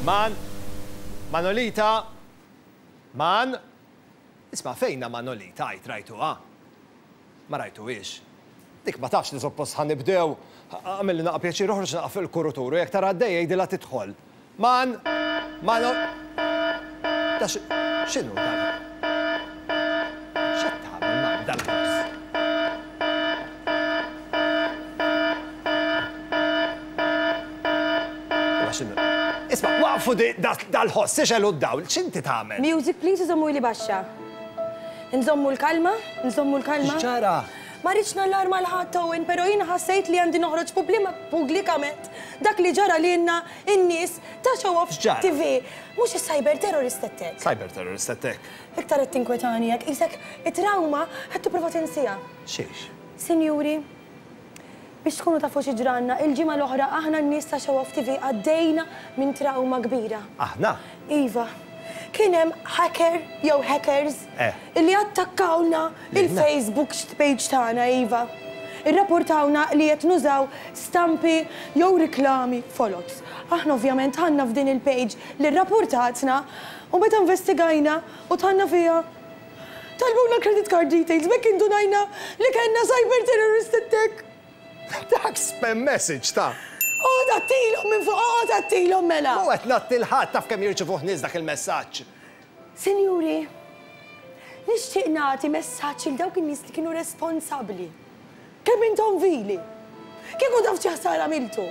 Man! Manolita! Man! Isma' fejnha Manolita għid rajtuha? Ma rajtuhiex. Dik ma tafx li suppost ħa nibdew. Agħmilli naqa' pjaċir oħroġ naqa' fil-kurutur u jekk tara għaddejja għidilha tidħol. Man! Mano! Da x'inhu dan? X'qed tagħmel Man dal-ħoss? Imma x'inhu? Isma' waqfu dal-ħoss, ixegħlu d-dawl, x'inti tagħmel? Music please u żommuli baxxa. Nżommu l-kalma, nżommu l-kalma. X'ġara? Ma rridx nallarma 'l ħadd Owen, però jiena ħassejt li għandi noħroġ pubblikament dak li ġara lilna n-nies ta' Show Off X'ġara? TV. Mhux is-cyber terrorist attack. Cyber terrorist attack? Iktar qed tinkwetani hekk, qisek it-trawma qed tipprova tinsiha. Xiex? Sinjuri, biex tkunu tafu xi ġralna, il-ġimgħa l-oħra aħna n-nies ta' Show Off TV għaddejna minn trawma kbira. Aħna? Iva. Kien hemm hacker jew hackers illi attakkawlna il-Facebook page tagħna, iva. Irrapportawna li qed nużaw stampi jew riklami foloz. Aħna ovvjament dħalna f'din il-page li rrapportatna u meta investigajna u dħalna fiha, talbuna l-credit card details b'hekk indunajna li kellna cyber terrorist attack. Dak spam message ta'. Oqgħod għattilhom minn fuq, oqgħod għattilhom mela! Mhu qed ngħatti 'l ħadd, taf kemm jirċivuh nies dak il-messaġġ. Sinjuri, nixtieq nagħti messaġġ lil dawk in-nies li kienu responsabbli. Kemm intom vili! Kieku taf xi ħsara għamiltu!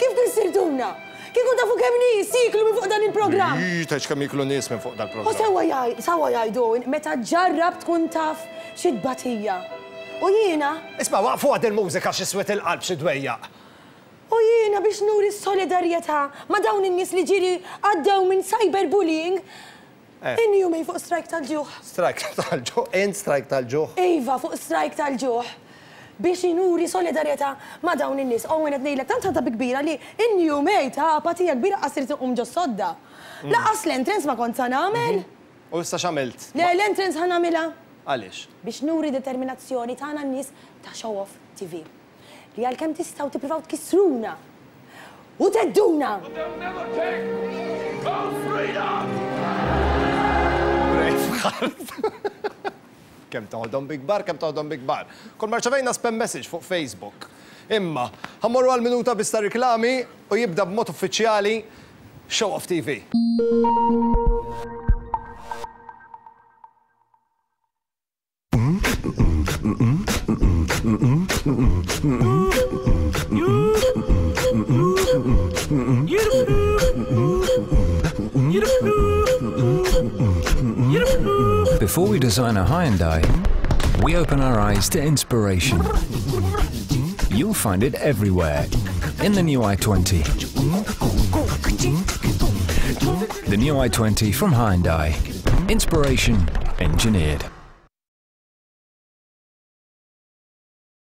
Kif kissirtuna! Kieku tafu kemm nies jieklu minn fuq dan il-programm! Ii, tgħidx kemm jieklu nies minn fuq dal-programm. U sewwa jgħid, sewwa jgħidu, meta ġġarrab tkun taf xi tbatija. U jiena. Isma' waqfuha dil-mużika xi swied il-qalb xi dwejjaq. U jiena biex nuri s-solidarjetà ma' dawn in-nies li ġieli għaddew minn cyber bullying, inni jumejn fuq strajk tal-ġuħ. Strajk tal-ġuħ? Int strajk tal-ġuħ? Iva, fuq strajk tal-ġuħ. Biex nuri solidarjetà ma' dawn in-nies. Owen qed ngħidlek tant ħadha bi kbira li inni jumejn ta' apatija kbira qas ridt inqum ġos-sodda. Lanqas l-entrance ma kont sa nagħmel. U issa x'għamilt? Le, l-entrance ħa nagħmilha. Għaliex? Biex nuri determinazzjoni tagħna n-nies ta' Show Off TV. Li għalkemm tistgħu tippruvaw tkissruna u thedduna! Braveheart. Kemm toħodhom bi kbar, kemm toħodhom bi kbar. Kull ma rċevejna spam message fuq Facebook. Imma, ħa mmorru għal minuta biss ta' riklami u jibda b'mod uffiċjali Show Off TV. Before we design a Hyundai, we open our eyes to inspiration. You'll find it everywhere in the new i20. The new i20 from Hyundai. Inspiration engineered.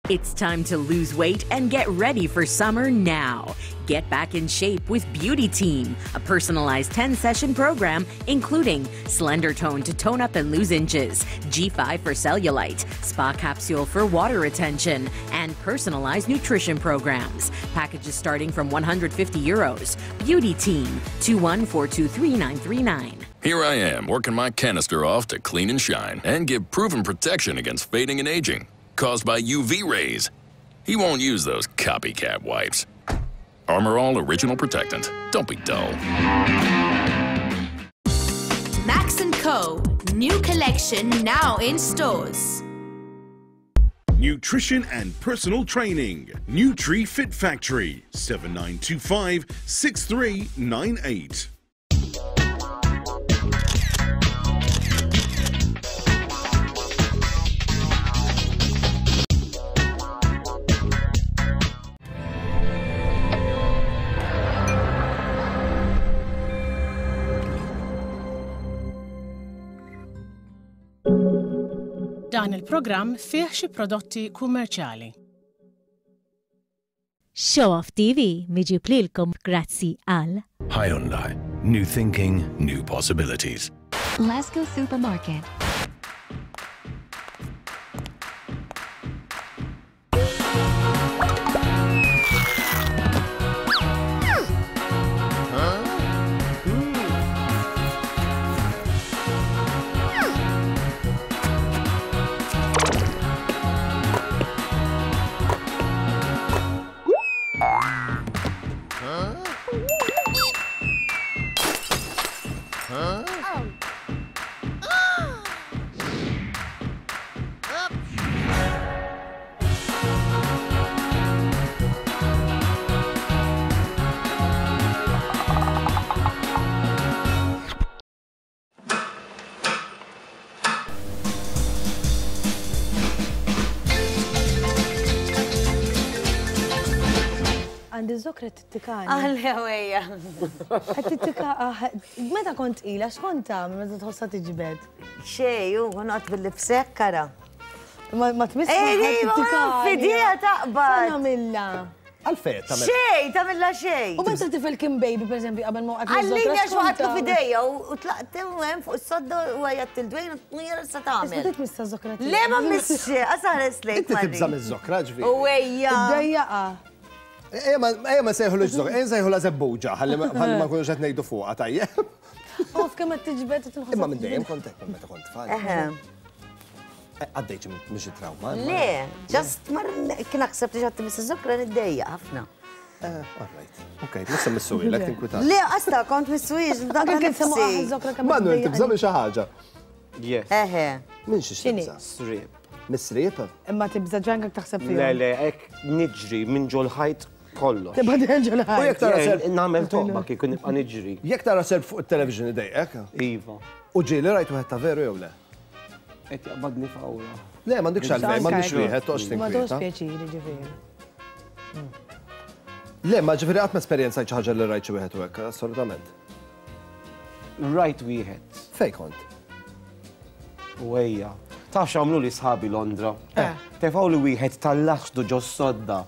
It's time to lose weight and get ready for summer now. Get back in shape with Beauty Team, a personalized 10-session program including Slender Tone to tone up and lose inches, G5 for cellulite, Spa Capsule for water retention, and personalized nutrition programs. Packages starting from 150 euros. Beauty Team, 2142339. Here I am, working my canister off to clean and shine and give proven protection against fading and aging caused by UV rays. He won't use those copycat wipes. Armor All Original Protectant. Don't be dull. Max & Co. New collection now in stores. Nutrition and personal training. Nutri Fit Factory, 7925 6398. Dan il-programm fih xi prodotti kummerċjali. Show Off TV miġib lilkom grazzi għal. Hyundai. New thinking, new possibilities. Lasco Supermarket. Iż-żokra tittikani. Għalli għawejja. Qed tittika ah, meta kont tqila x'kont tagħmel meta tħossha tiġbed? Xej, u noqgħod bil-lipsek kara. Ma tmiss Ej, fidija taqbad. Nagħmilha. Għalfejn tagħmel? Xej, tagħmilha xej. U meta tifel kien baby pereżempju qabel ma waqgħet Għallini għax waqgħatlu f'idejja u tlaqt hemm fuq is-sodda u għajjatt il-dwejn u jara sa tagħmel. Issa tmissa żokra Le ma missx, għasares lejk. Inti tibża' miż-żokra ġifieri. U ejja. Iddejjaqa. Ejja ma nsejħulux żokra, ejja nsejħulha żebbuġa, ħalli ma nkunux qed ngħidu fuqha tajjeb. Of kemm qed tiġbed u tinħoss. Imma minn dejjem kont hekk meta kont tfal. Għaddejt minn xi trauma. Le, just mar kien naħseb li ġatti Mrs. Zokra niddejja ħafna. Eh, all right. Ok, nista' missuwi, lek tinkwita. Le, asta kont missuwi, dak kien semmu Zokra kemm. Manuel, tibża' minn xi ħaġa. Yes. Eħe. Minn xi tibża'? Srib. Mis-srib? Imma tibża' ġankak taħseb fihom. Le, le, hekk niġri minn ġol ħajt kollox. Tibqa' ġol ħajt. U jekk tara serp. Nagħmel toqba kieku nibqa' niġri. Jekk tara serp fuq it-television idejqek? Iva. U ġieli rajt wieħed ta' veru jew le? Qed jaqbadni fawra. Le, m'għandikx għalfejn, m'għandix wieħed, toqgħodx Ma tinkwieta. toqgħodx pjaċiri ġifieri. Le, ma ġifieri qatt ma esperjenzajt xi ħaġa li rajt xi wieħed u hekk, assolutament. Rajt wieħed. Fejn kont? U ejja. Taf x'għamlu li sħabi Londra? Eh. Tefgħu li wieħed tal-laxdu ġo sodda.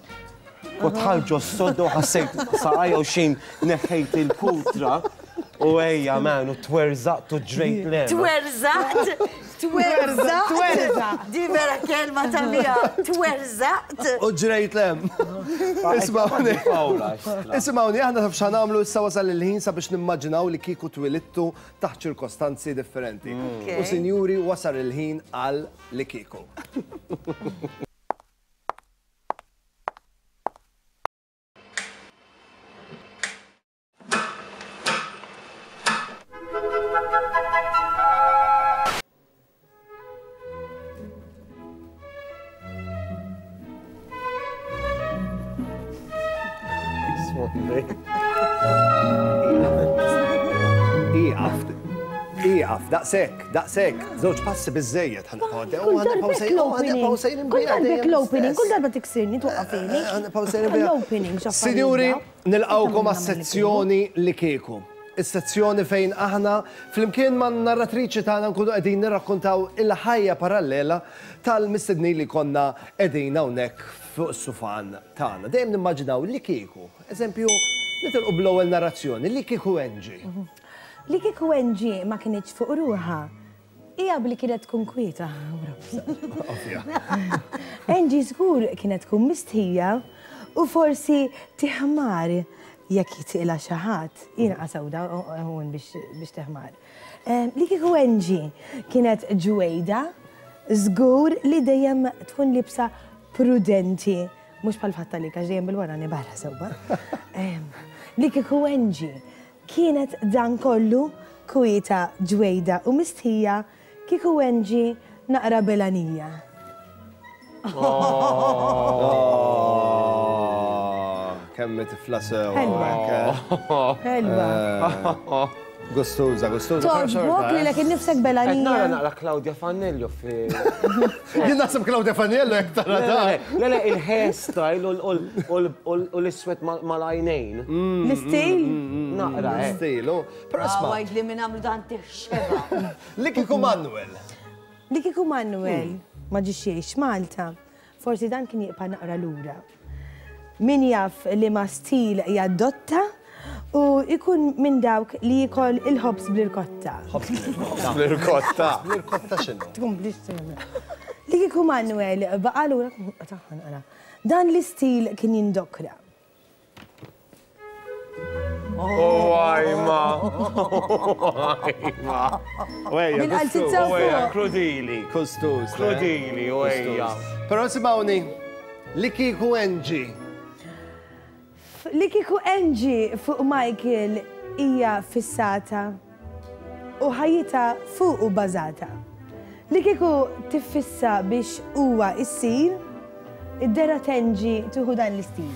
Kont ħal ġo sodda u ħassejt saqajja u xejn neħħejt il-kutra. U ejja, man, u twerżaqt u ġrejt lem. Twerżaqt, twerżaqt. Twerżaqt. Di vera kelma ta' bija. Twerżaqt. U ġrejt lem. Ismawni. Ismawni, aħna taf x'ħa nagħmlu issa wasal il-ħin sabiex nimmaġinaw li kieku twilidtu taħt ċirkostanzi differenti. U sinjuri, wasal il-ħin għal li kieku. Ieqaf, ieqaf, daqshekk, daqshekk, żewġ passi biżżejjed ħa nibqgħu għaddej. Kull darba l-opening, kull darba l-opening, kull darba tiksirni twaqqafini. L-opening, x'affarijiet Sinjuri, dawn. nilqgħukom għas-sezzjoni li kieku. Is-sezzjoni fejn aħna flimkien man-narratriċi tagħna nkunu qegħdin nirrakkontaw il-ħajja parallela tal-mistednin li konna qegħdin hawnhekk fuq is-sufan tagħna. Dejjem nimmaġinaw li kieku, eżempju, nitilqu bl-ewwel narrazzjoni, li kieku Angie. Li kieku Angie ma kinitx fuq ruħha, hija bli kienet tkun kwieta. Angie żgur kienet tkun mistħija u forsi tiħmar jekk jitqilha xi ħadd. Jiena qasawda hawn biex teħmar. Li kieku Angie kienet ġwejda, żgur li dejjem tkun libsa prudenti, mhux bħal fatta li għax dejjem bil-wara barra sewwa. Li kieku Angie kienet dan kollu kwieta, ġwejda u mistħija, kieku Angie naqra belanija. Oh, Kemm tifla sew. Ħelwa. Ħelwa. Gustuża, gustuża. Toġbok li lek innifsek Qed nara belanija. naqra Claudia Fannello fi. Jien naħseb Claudia Faniello jekk tara Le, dan. le, le, il-hairstyle u l-iswed mal-għajnejn. L-istil? Naqra, eh. Stilu. Però isma' Għajd li minn għamlu dan tiħxeba. li kieku Manuel. Li kieku Manuel ma ġiex jgħix Malta, forsi dan kien jibqa' naqra lura. Min jaf li ma stil jaddotta u jkun minn dawk li jikol il-ħobż bl-irkotta. L-irkotta. L-irkotta x'inhu? Tkomplix tagħmel. Li kieku Manuel baqa' lura taħħa naqra. Dan l-istil kien jindokra. Oh, għajma. Għajma. Wejja, Bil-qalzizza gustuż. u Ejja, fuq. krudili. Gustuż. eh? Krudili, u ejja. Però simawni, li kieku Angie. Li kieku Angie fuq Michael hija fissata u ħajjitha fuqu bażata. Li kieku tiffissa biex huwa issir, id-dera t'Angie tieħu dan l-istil.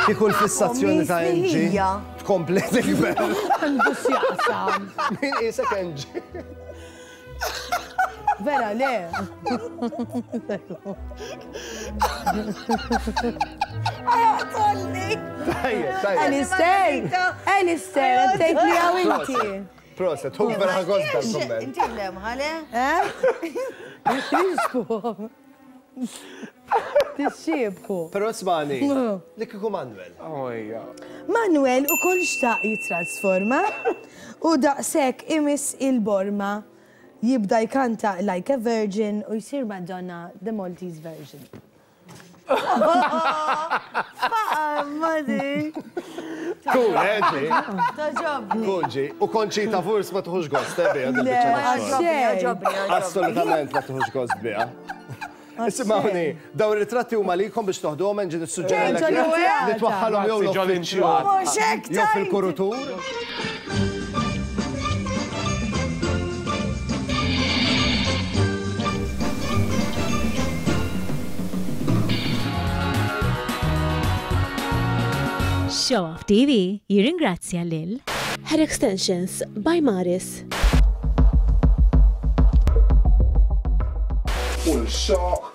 Kieku l-fissazzjoni ta' Angie Misnija. tkompli tikber. Għandu x'jaqsam. Min qisek Angie? Vera, le. Tolli. Tajjeb, tajjeb. Alistair, Alistair, tgħid li hawn inti. Proset, hu vera ħa gost dal-kumment. Inti l-lemħa, le? Eh? Tixxiebħu. Tixxiebħu. Però ismagħni, li kieku Manuel. Manuel ukoll xtaq jittrasforma u daqshekk imiss il-borma jibda jkanta Like a Virgin u jsir Madonna the Maltese version. Faqa' madi. Cool, eh, ġi? Togħġobni. Cool, ġi. U Conchita Wurst ma tuħux gost, eh, biha, din biċċa Le, tax-xogħol. għoġobni, għoġobni. Assolutament ma tuħux gost biha. Isimgħuni, dawn ir-ritratti huma likom biex toħduhom ġi nissuġġerilek li twaħħalhom jew l-uffiċċju jew fil-kurutur. Show Off TV jirringrazzja lil Hair Extensions by Maris. U l-xaq.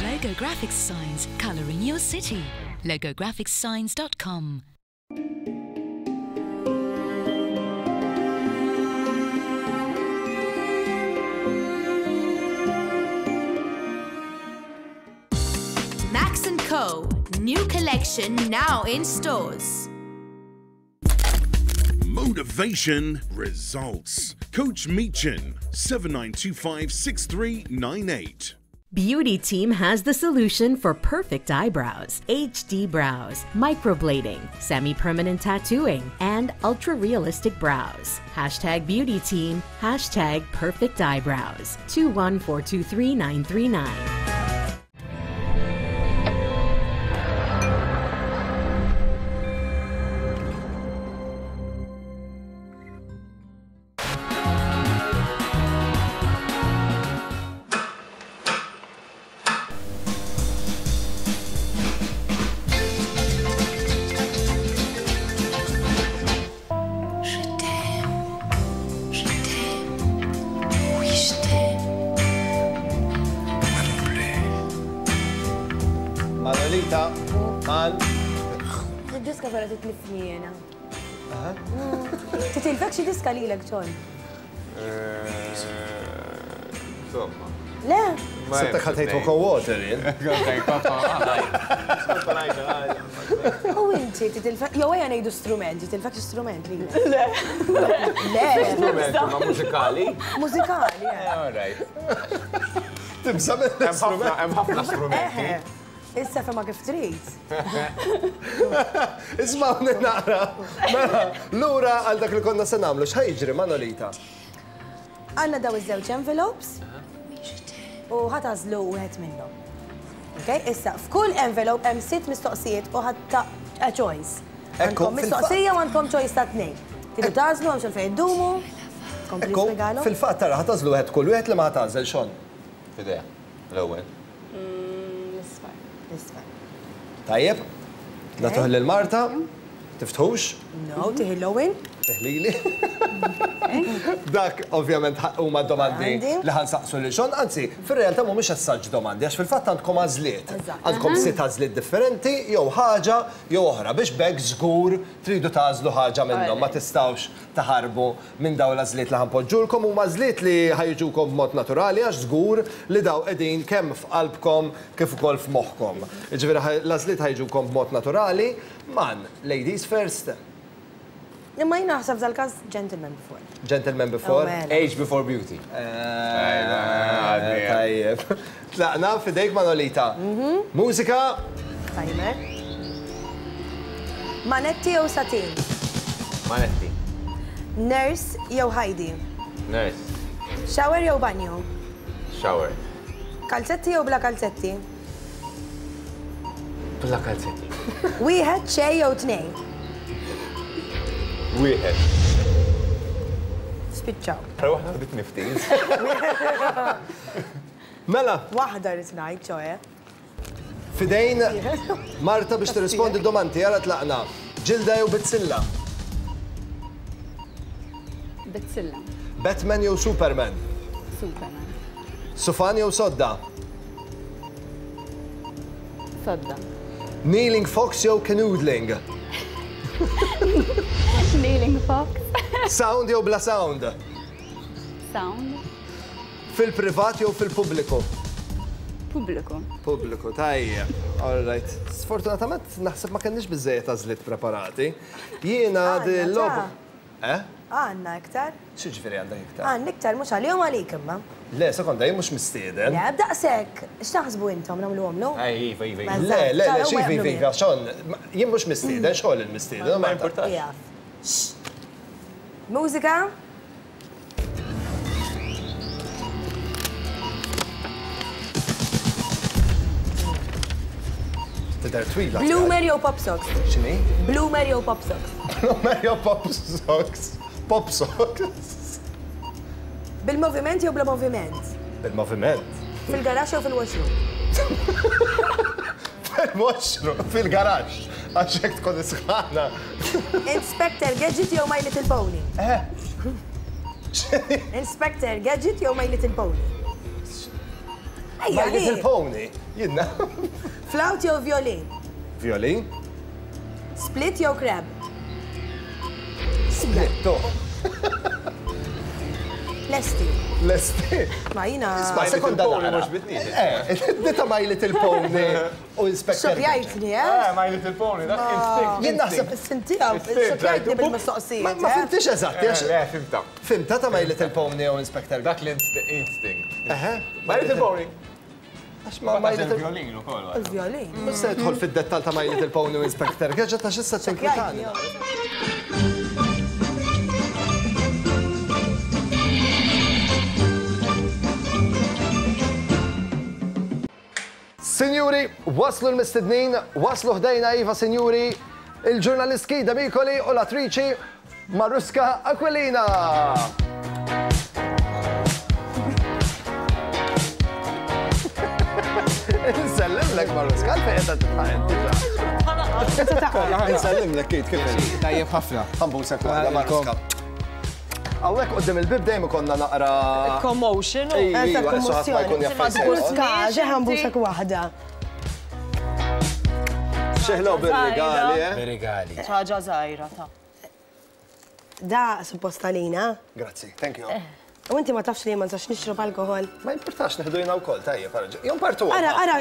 Logo Graphics Signs, colouring your city. LogoGraphicsSigns.com. Max & Co. New collection now in stores. Motivation results. Coach Meechan, 7925 6398. Beauty Team has the solution for perfect eyebrows, HD brows, microblading, semi-permanent tattooing, and ultra-realistic brows. Hashtag Beauty Team, hashtag perfect eyebrows. 21423 Je t'aime, je t'aime, oui je t'aime. Manolita, Man. Id-diska vera titlifni jena. Titilfek xi diska lilek, John? Insomma. Le? Sibtek ħa tgħid Coco Water jien. U inti titilfek, jew ejja ngħidu strument, titilfek xi strument lilek. Le. Le. Strument ma mużikali. Mużikali, eh. All right. Tibża' mill-istrument. Hemm ħafna strumenti. Issa fema kif trid. Ismawni naqra. Mela, lura għal dak li konna se nagħmlu, x'ħa jiġri Manolita? Għandna daw iż-żewġ envelopes u ħa tagħżlu wieħed minnhom. Okay? Issa, f'kull envelope hemm sitt mistoqsijiet u ħadd ta' a choice. Ekku, Għandkom mistoqsija u għandkom choice ta' tnejn. Tridu tagħżlu hemm xejn iddumu. Kompli Ekku, spjegalhom. fil-fatt tara ħa tagħżlu wieħed kull wieħed li ma ħa tagħżel xon. Fidea, l-ewwel. L-isfar. L-isfar. Tajjeb, nagħtuh lil Marta, tiftħux, No, tieħi l-ewwel. teħlili. Dak ovvjament huma domandi Għandi. li ħa nsaqsu lil Sean, anzi, fir-realtà mhumiex assaġġ domandi, għax fil-fatt għandkom għażliet. Eżatt. Għandkom sitt għażliet differenti, jew ħaġa jew oħra, biex b'hekk żgur tridu tagħżlu ħaġa minnhom, ma tistgħux taħarbu minn dawn l-għażliet li ħa npoġġulkom, huma għażliet li ħa jiġukom b'mod naturali għax żgur li daw qegħdin kemm f'qalbkom kif ukoll f'moħħkom. Jiġifieri l-għażliet ħa jiġukom b'mod naturali, man, ladies first. Imma jien naħseb f'dal-każ gentleman before. Gentleman before. Oh, mela. Age before beauty. Tajjeb. Tlaqna fidejk Manolita. Mużika. Timer. Manetti jew satin? Manetti. Nurse jew Heidi? Nurse. Shower jew banju? Shower. Kalzetti jew bla kalzetti? Bla kalzetti. Wieħed, xejn jew tnejn? Wieħed. Spiċċaw. Però waħda bit nifti. Mela. Waħda rrid ngħid, ċoe. Fidejn Marta biex tirrispondi d-domandi, ara tlaqna. Ġilda jew bizzilla? Bizzilla. Batman jew Superman? Superman. Sufan jew sodda? Sodda. Kneeling fox jew canoodling? Kneeling fox. Sound jew bla sound? Sound. Fil-privat jew fil-pubbliku? Pubbliku. Pubbliku, tajjeb. All right. Sfortunatament naħseb ma kenniex biżejjed għażliet preparati. Jiena dil-logħba. Eh? Għandna iktar. X'jiġifieri għandek iktar? Għandna iktar mhux għalihom għalik imma. Le, sekonda, jien mhux mistieden. Le, b'daqshekk, x'taħsbu intom nagħmluhomlu? Ej, iva, iva, iva. Le, le, le, xi iva, iva, xogħol. Jien mhux mistieden, xogħol il-mistieden. Ma importax. Mużika? Tidher twila. Bloomer jew pop socks? X'inhi? Bloomer jew pop socks? Bloomer jew pop socks? Pop socks. Bil-moviment jew bla moviment? Bil-moviment. Fil-garaxx jew fil-washroom? Fil-washroom, fil-garaxx. Għax hekk tkun isħana. Inspector Gadget jew My Little Pony? Eh. Inspector Gadget jew My Little Pony? My Little Pony, jiena. Flawt jew violin? Violin. Split jew crab? Split, to. Lesti. Lesti. Ma jina. Isma' sekonda naqra. Eh, dita My Little Pony u Inspector. Xokjajtni, eh? Eh, My Little Pony, dak instinct. Jien naħseb. Sintija, xokjajtni bil-mistoqsijiet. Ma fimtix eżatt. Eh, le, fimta. Fimta ta' My Little Pony u Inspector. Dak l-instinct. My Little Pony. Għax ma My Little Violin ukoll. Il-violin. Mhux se nidħol fid-dettall ta' My Little Pony u Inspector Gadget għax issa tinkwitani. Sinjuri, waslu l-mistednin, waslu ħdejna iva sinjuri, il-ġurnalist Kida Mikoli u l-attriċi Maruska Aquilina! Nsellimlek Maruska, għalfejn qed tidħaq inti ġa. Nsellimlek Kate kif inti? Tajjeb ħafna. Ħambusek waħda Maruska. Hawnhekk quddiem il-bib dejjem ikollna naqra Commotion. Ejwa, ħadd ma jkun jaf fejn se joqgħod. Maruska, ġe ħambusek waħda. Xeħlew bir-rigali, eh? Bir-rigali. Ħaġa żgħira ta'. Da suppost għalina. Grazzi, thank you. U inti ma tafx li ma nistax nixrob alkohol. Ma jimpurtax neħdu jiena wkoll, tajjeb, ara. Jew partu. Ara, ara,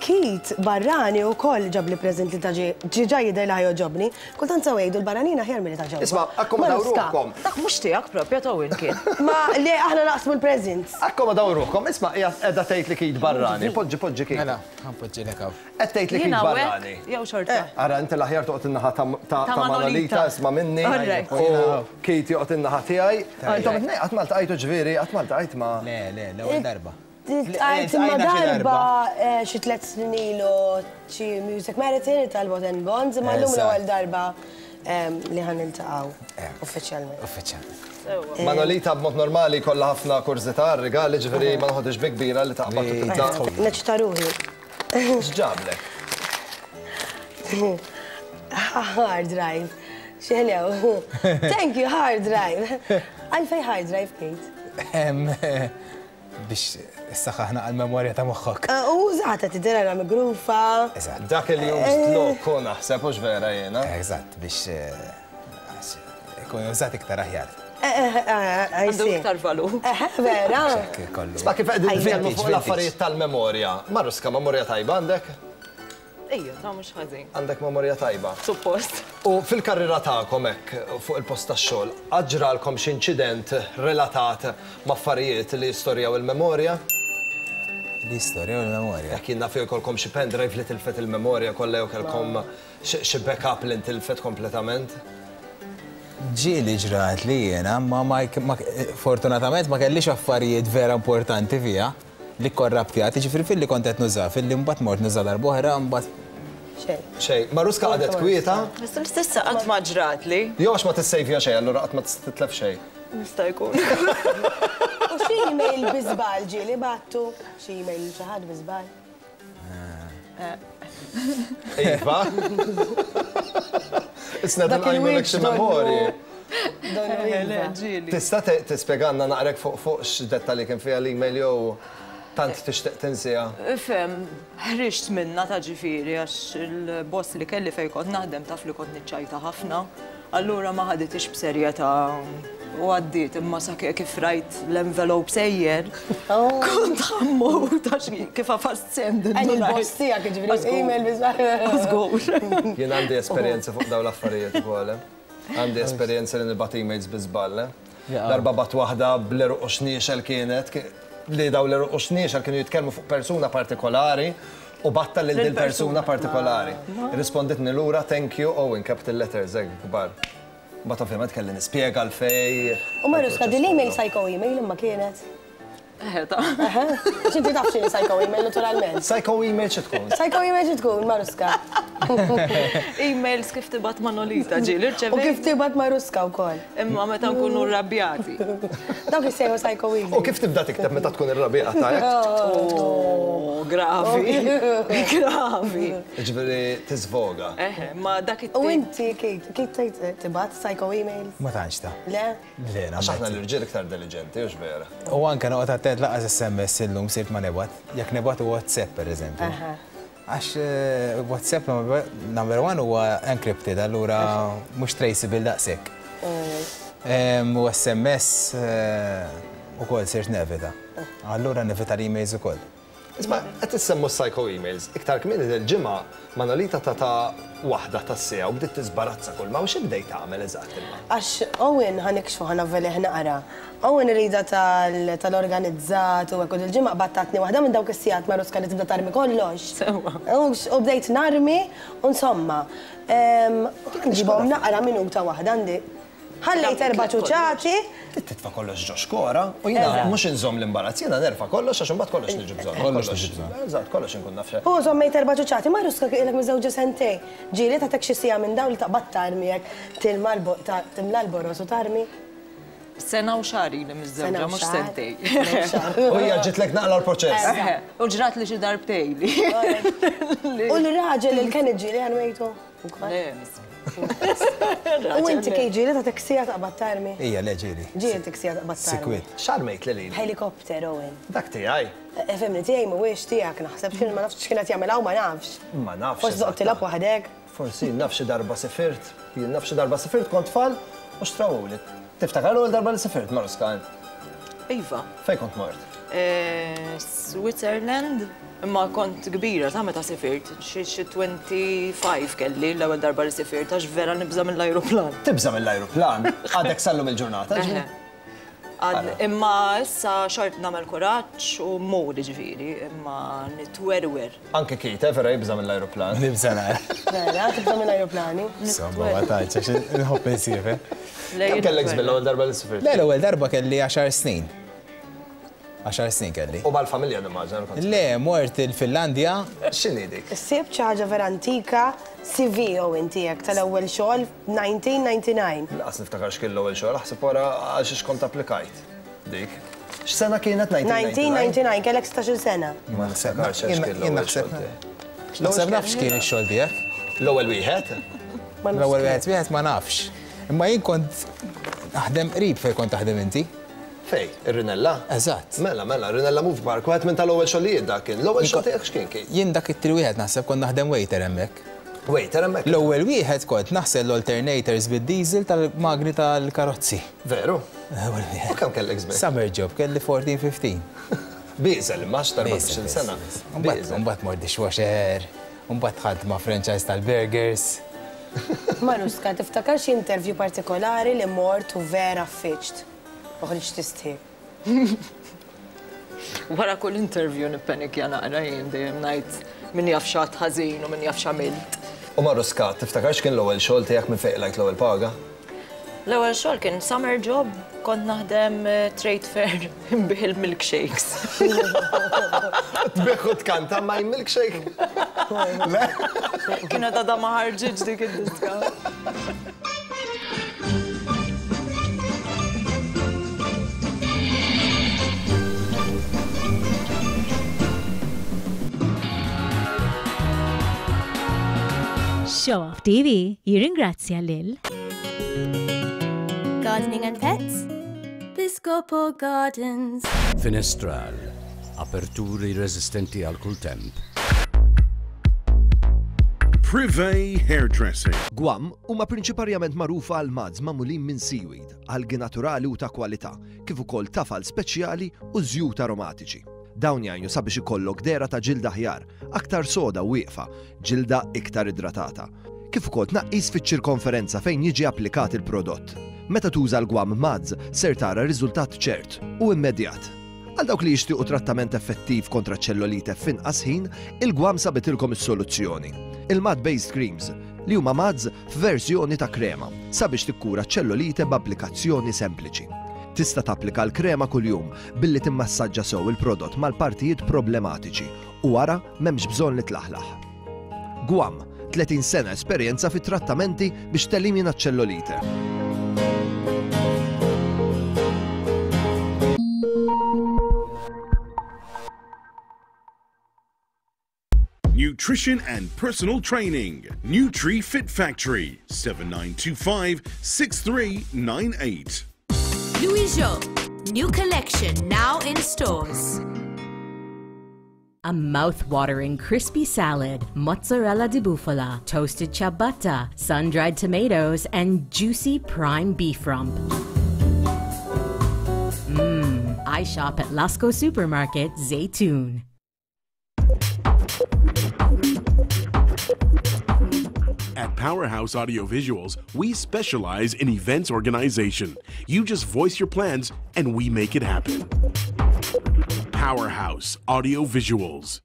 Keith barrani wkoll ġabli preżent li ta' ġiġa jidher li ħajogħġobni. Kultant sew jgħidu l-barranin aħjar milli ta' ġewwa. Isma' akkomodaw ruħkom. Dak mhux tiegħek propja ta' kien. Ma le aħna naqsmu l-presents. Akkomodaw ruħkom, isma' hija qiegħda tgħid li Keith barrani. Poġġi poġġi Keith. Mela, ħa npoġġilek hawn. Qed tgħid li kien barrani. Jew xorta. Ara inti l-aħjar toqgħod in-naħa ta' Manolita isma' minni. U Keith joqgħod in-naħa tiegħi. Intom it-tnejn qatt ma ltqajtu ġifieri, qatt ma ltqajt ma'. Le, le, l-ewwel darba. Ltqajt imma darba xi tliet snin ilu xi Music Marathon tal-Bot and Bonds, imma llum l-ewwel darba li ħa niltaqgħu uffiċjalment. Uffiċjalment. Manolita b'mod normali jkollha ħafna kurżità għar-rigali, ġifieri ma noħodhiex bi kbira li taqbad u tibda. Neċċita ruħi. X'ġablek? Hard drive. X'ħelew. Thank you, hard drive. Għalfej hard drive, Kate? Biex issaħħaħna għal-memorja ta' moħħok. U użata tidher ara migrufa. Eżatt. Dak li used look hu naħseb hux vera jiena. Eżatt, biex ikun użat iktar aħjar. Għandu iktar valur. Vera. Isma' kif qegħdin nitkellmu fuq l-affarijiet tal-memorja. Maruska, memorja tajba għandek? Ejja, ta' mhux ħażin. Għandek memorja tajba. Suppost. U fil-karriera tagħkom hekk fuq il-post tax-xogħol, qatt ġralkom xi inċident relatat ma' affarijiet li jistorjaw il-memorja? Li jistorjaw il-memorja? Jekk jien naf jew jkollkom xi pendrive li tilfet il-memorja kollha jew kellkom xi backup li ntilfet kompletament? Ġieli ġrat li jiena, ma fortunatament ma kellix affarijiet vera importanti fiha li kkorraptjat, jiġifieri filli kont qed nuża, filli mbagħad mort nuża darb'oħra, mbagħad. Xejn. Xejn. Maruska qagħdet kwieta. S'issa qatt ma ġratli. Jew għax ma tissejvja xejn, allura qatt ma tista' titlef xejn. Jista' jkun. U xi email bi żball ġieli bgħattu? Xi email lil xi ħadd bi żball? Iva. Isna nqajmulek xi memorji. Tista' tispjegalna naqrek fuq fuq x'dettalji kien fiha l-email jew tant tixtieq tinsiha? Ifhem, ħriġt minnha ta' ġifieri għax il-boss li kelli fejn kont naħdem taf li kont niċċajta ħafna. Allura ma ħaditix b'serjetà u għaddiet imma sa kif rajt l-envelope sejjer kont ħa mmut għax kif għafast send indunajt. Il-boss tiegħek jiġifieri email bi żball. Żgur. Jien għandi esperjenza fuq dawn l-affarijiet ukoll. Għandi esperjenza li nibgħat emails bi żball. Darba bgħatt waħda bl-għeruq u xniexel kienet, li dawn l-għeruq u xniexel kienu jitkellmu fuq persuna partikolari U bagħtha lil dil-persuna partikolari. Irrisponditni lura thank you Owen, capital letters hekk kbar. Mbagħad ovvjament kelli nispjega għalfejn. U Maruska, din l-email psycho email imma kienet? Eħe ta. Eħe. Għax inti taf x'inhi psycho email naturalment. Psycho email xi tkun? Psycho email xi tkun, Maruska? Emails kif tibgħat Manolita ġieli rċevejt. U kif tibgħat Maruska wkoll. Imma meta nkunu rrabjati. Dawk jissejħu psycho email. U kif tibda tikteb meta tkun irrabjata hekk? Oh, gravi. Gravi. Jiġifieri tiżvoga. Eħe, ma dak it U inti Kate, kif tgħid tibgħat psycho emails? Ma tantx ta. Le? Le, Għax aħna l-irġiel iktar deliġenti, hux vera? U anke noqgħod attent lanqas SMS illum sirt ma nibgħat. Jekk nibgħat hu WhatsApp pereżempju. Għax WhatsApp number one huwa encrypted, allura mhux traceable daqshekk. U SMS ukoll sirt nevita. Allura nevita l-emails ukoll. Isma' qed issemmu s-psycho emails. Iktar kmieni dil-ġimgħa Manolita tatha waħda tas-siegħa u bdiet tiżbarazza kull ma u xi bdejt tagħmel eżatt imma? Għax Owen ħa nikxfu ħa navvelih naqra. Owen iridha tal-organizzat u hekk u dil-ġimgħa qbadt tatni waħda minn dawk is-sigħat Maruska li tibda tarmi kollox. Sewwa. U bdejt narmi u insomma. Nġibhom naqra minuta waħda għandi Ħallejt erba' ċuċati. Trid titfa' kollox ġo xkora u jiena mhux inżomm l-imbarazz, jiena nerfa' kollox għax imbagħad kollox niġi bżonn. Kollox niġi bżonn. Eżatt, kollox inkun naf x'hemm. U żommejt erba' ċuċati. Maruska kien ilek miżżewġa sentejn. Ġieli tagħtek xi siegħa minn dawn li taqbad tarmi hekk, tilma timla l-boroż u tarmi? Sena u xahar ili miżżewġa, mhux sentejn. U hija ġitlek naqla l-proċess. U ġratli xi darbtejn li. U l-raġel lil Kenneth ġieli għanwejtu? Le, miskin. U inti kej ġieli ta' teksija taqbad tarmi? Ija, le ġieli. Ġieli teksija taqbad tarmi. Sikwit. X'armejt lil ili? Helikopter, Owen. Dak tiegħi. Fimni, tiegħi mhuwiex tiegħek naħseb, x'kien ma nafx x'kien qed jagħmel hawn ma nafx. Ma nafx. Forsi toqgħod tilgħab waħdek. Forsi jien naf xi darba sifirt, jien naf xi darba sifirt kont tfal u xtrawuli. Tiftakar l-ewwel darba li sifirt, Maruska, int? Iva. Fejn kont mort? Switzerland, imma kont kbira ta' meta sifirt, xi 25 kelli l-ewwel darba li sifirt għax vera nibża' mill-ajruplan. Tibża' mill-ajruplan? Għadek sal-lum il-ġurnata? Eħe. Imma issa xort nagħmel kuraġġ u mmur jiġifieri, imma nitwerwer. Anke Keith, eh, vera jibża' mill-ajruplan. Nibża' nara. Vera, tibża' mill-ajruplani? Insomma, ma tantx, għax inħobb insiefer. Kemm kellek żmien l-ewwel darba li sifirt? Le, l-ewwel darba kelli għaxar snin. Għaxar snin kelli. U mal-familja nimmaġina li kont. Le, mort il-Finlandja. X'inhi dik? Sibt xi ħaġa vera antika, CV Owen tiegħek tal-ewwel xogħol 1999. Lanqas niftakar x'kien l-ewwel xogħol, aħseb wara għal xiex kont applikajt dik. X'sena kienet 1999? 1999, kellek 16-il sena. Ma niftakarx għal x'kien l-ewwel xogħol tiegħi. Naħseb naf x'kien ix-xogħol tiegħek. L-ewwel wieħed? L-ewwel wieħed wieħed ma nafx. Imma jien kont naħdem qrib fejn kont taħdem inti. Fejn? Ir-Rinella? Eżatt. Mela, mela, Rinella Movie Park, wieħed minn tal-ewwel xogħlijiet dak kien. L-ewwel xogħol tiegħek x'kien kien? Jien dak it-tieni wieħed naħseb kont naħdem waiter hemmhekk. Waiter hemmhekk? L-ewwel wieħed kont naħsel l-alternators bid-diesel tal-magni tal-karozzi. Veru? L-ewwel wieħed. U kemm kellek żmien? Summer job, kelli 14, 15. Bieżel imma għax ta' 14-il sena. Imbagħad imbagħad mort dishwasher, imbagħad dħalt ma' franchise tal-burgers. Maruska, tiftakar xi interview partikolari li mort u vera ffiġt? U ħriġt tistħi. Wara kull interview nippenikja naqra jien dejjem ngħid min jaf x'għadt ħażin u min jaf x'għamilt. U Maruska, tiftakar x'kien l-ewwel xogħol tiegħek minn fejn qlajt l-ewwel paga? L-ewwel xogħol kien summer job, kont naħdem trade fair nbigħ il-milkshakes. Tbigħ u tkanta my milkshake? Le? Kienet għadha ma ħarġitx dik id-diska. Show Off TV jirringrazzja lil Gardening and Pets, Piscopo Gardens. Finestral, aperturi resistenti għal kull temp. Privé Hairdressing. Guam huma prinċiparjament magħrufa għal muds magħmulin minn seaweed, algi naturali u ta' kwalità, kif ukoll tafal speċjali u żjut aromatiċi. Dawn jgħinu sabiex ikollok dehra ta' ġilda aħjar, aktar soda u wieqfa, ġilda iktar idratata, kif ukoll tnaqqis fiċ-ċirkonferenza fejn jiġi applikat il-prodott. Meta tuża l-Guam Muds ser tara riżultat ċert u immedjat. Għal dawk li jixtiequ trattament effettiv kontra ċ-ċellolite f'inqas ħin, il-Guam sabitilkom is-soluzzjoni. Il-Mud Based Creams, li huma muds f'verżjoni ta' krema, sabiex tikkura ċ-ċellolite b'applikazzjoni sempliċi. Tista' tapplika l-krema kuljum billi timmassaġġa sew il-prodott mal-partijiet problematiċi u wara m'hemmx bżonn li tlaħlaħ. Guam, 30 sena esperjenza fi trattamenti biex telimina ċ-ċellolite. Nutrition and personal training. Nutri Fit Factory, 7925 6398. Louis Jo, new collection now in stores. A mouth-watering crispy salad, mozzarella di bufala, toasted ciabatta, sun-dried tomatoes, and juicy prime beef rump. Mmm, I shop at Lasco Supermarket, Zaytoon. At Powerhouse Audiovisuals, we specialize in events organization. You just voice your plans and we make it happen. Powerhouse Audiovisuals.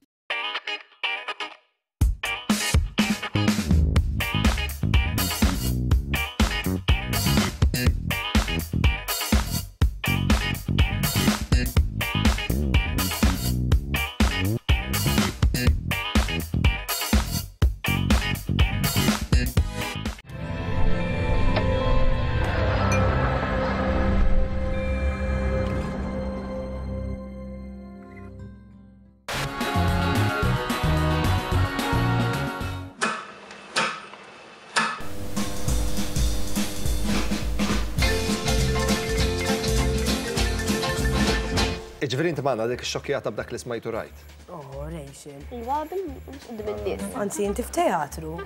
Iġveri inti magħna dik xokjata b'dak li smajtu rajt. Oh, Rachel. Iva, mhux quddiem in-nies. Anzi, inti f'teatru.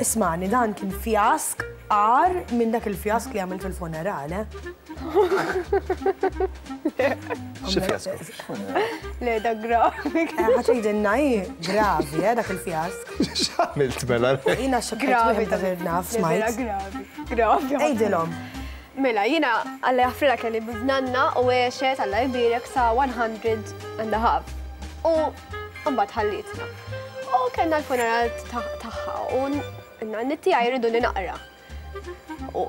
Ismani, dan kien fjask għar minn dak il-fjask li għamilt fil-funeral, eh? Xi fjask? Le, da gravi. Eh, ħatejdenna hi gravi, eh, dak il-fjask. X'għamilt mela? Jina xokjat dak il-naf, smajt. Gravi, gravi. Ejdilhom. Mela, jina għalla jaffrila kelli biznanna u għexet għalla jbirek sa 100 and a half. U mbagħad ħallitna. U kellna l-funeral tagħha u n-nanni tiegħi jridu li naqra. U